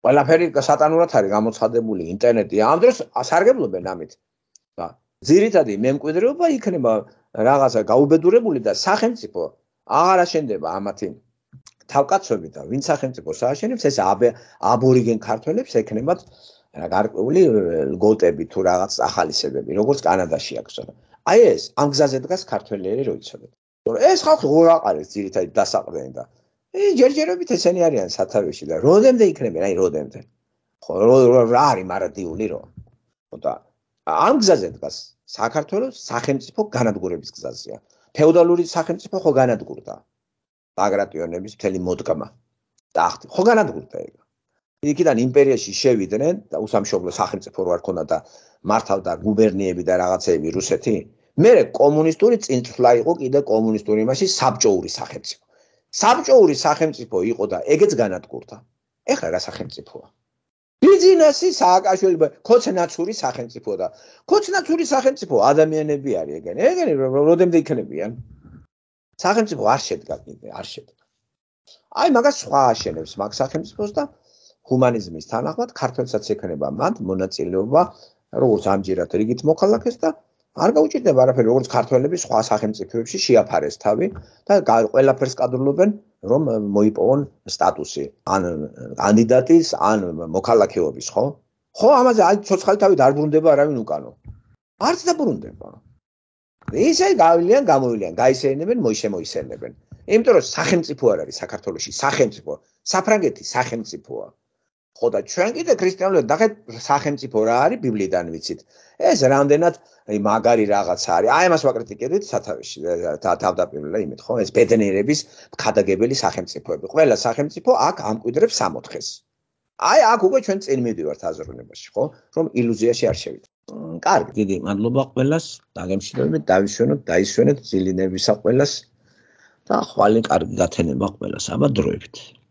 ყველაფერი სატანურად არის გამოცხადებული ინტერნეტი. ამ დროს ასარგებლობენ ამით. და ძირითადი მემკვიდრეობა იქნება რაღაცა გაუბედურებული და სახელმწიფო აღარ აშენდება ამათი თავკაცები და ვინ სახელმწიფოს ააშენებს ეს აბორიგენ ქართველებს ეკნებათ გარკვეული ლგოტები თუ რაღაც ახალისებები, როგორც კანადაში აქვს. აი ეს ამ გზაზე დგას ქართველები რო იცოდეთ. ეს ხალხი როგორ აყარებს ძირითადად დასაყრდენი და ე ჯერჯერობით ესენი არიან სათავეში და როდემდე იქნებიან, აი როდემდე. ხო რა არის მარადიული რო. ხო და ამ გზაზე დგას საქართველოს სახელმწიფო განადგურების გზაზეა. ფეოდალური სახელმწიფო ხო განადგურდა. ბაგრატიონების მთელი მოდგმა. ტახტი ხო განადგურდა ეგ. იქიდან იმპერიაში შევიდნენ და უსამშობლო სახელმწიფო რო არ ქონდა და მართავდა გუბერნიები და რაღაცეები რუსეთი. მერე კომუნისტური წინწვლა იყო კიდე კომუნისტური იმაში საბჭოური სახელმწიფო. საბჭოური სახელმწიფო იყო და ეგეც განადგურდა. ეხლა რა სახელმწიფოა? ბიზნესი სააკაშვილი ქოცნაცური სახელმწიფო და ქოცნაცური სახელმწიფო ადამიანები არის ეგენი. ეგენი როდემდე იქნებიან? სახელმწიფო არ შედგა კიდე, არ შედგა. აი მაგას სხვა აშენებს მაგ სახელმწიფოს და ჰუმანიზმის თანახმად ქართველსაც ექნება მათ მონაწილეობა როგორც ამჯერად რიგით მოქალაქეს და არ გაუჭირდება არაფერი როგორც ქართველები სხვა სახელმწიფოებში შეაფარეს თავი და ყველაფერს კადრულობენ რომ მოიპოვონ სტატუსი ან კანდიდატის ან მოქალაქეობის ხო? ხო ამაზე აი ცოცხალი თავი არ ბრუნდება არავინ უკანო. არც დაბრუნდება. ისე გავლიან გამოვილიან, გაისეინებენ, მოიშემოისენებენ. იმიტომ რომ სახელმწიფო არ არის საქართველოში, სახელმწიფო, საფრანგეთის სახელმწიფოა. ხო და ჩვენ კიდე ქრისტიანულად ნახეთ სახელმწიფო რა არის ბიბლიიდან ვიცით. ეს რამდენად მაგარი რაღაცა არის. აი ამას ვაკრიტიკებდით სათავეში თავდაპირველად იმით, ხო? ეს ბედნიერების ხადაგებელი სახელმწიფოები. ყველა სახელმწიფო აქ ამკვიდრებს სამოთხეს. აი აქ უკვე ჩვენ წინ მივდივართ აზროვნებაში, ხო? რომ ილუზიაში არ შევიდეთ. კარგი, დიდი მადლობა ყველას. დაგემშვიდობებით, დავიშვენოთ, დაისვენეთ ძილინებისა ყველას და ხვალე კარგი გათენება ყველას. აბა დროებით.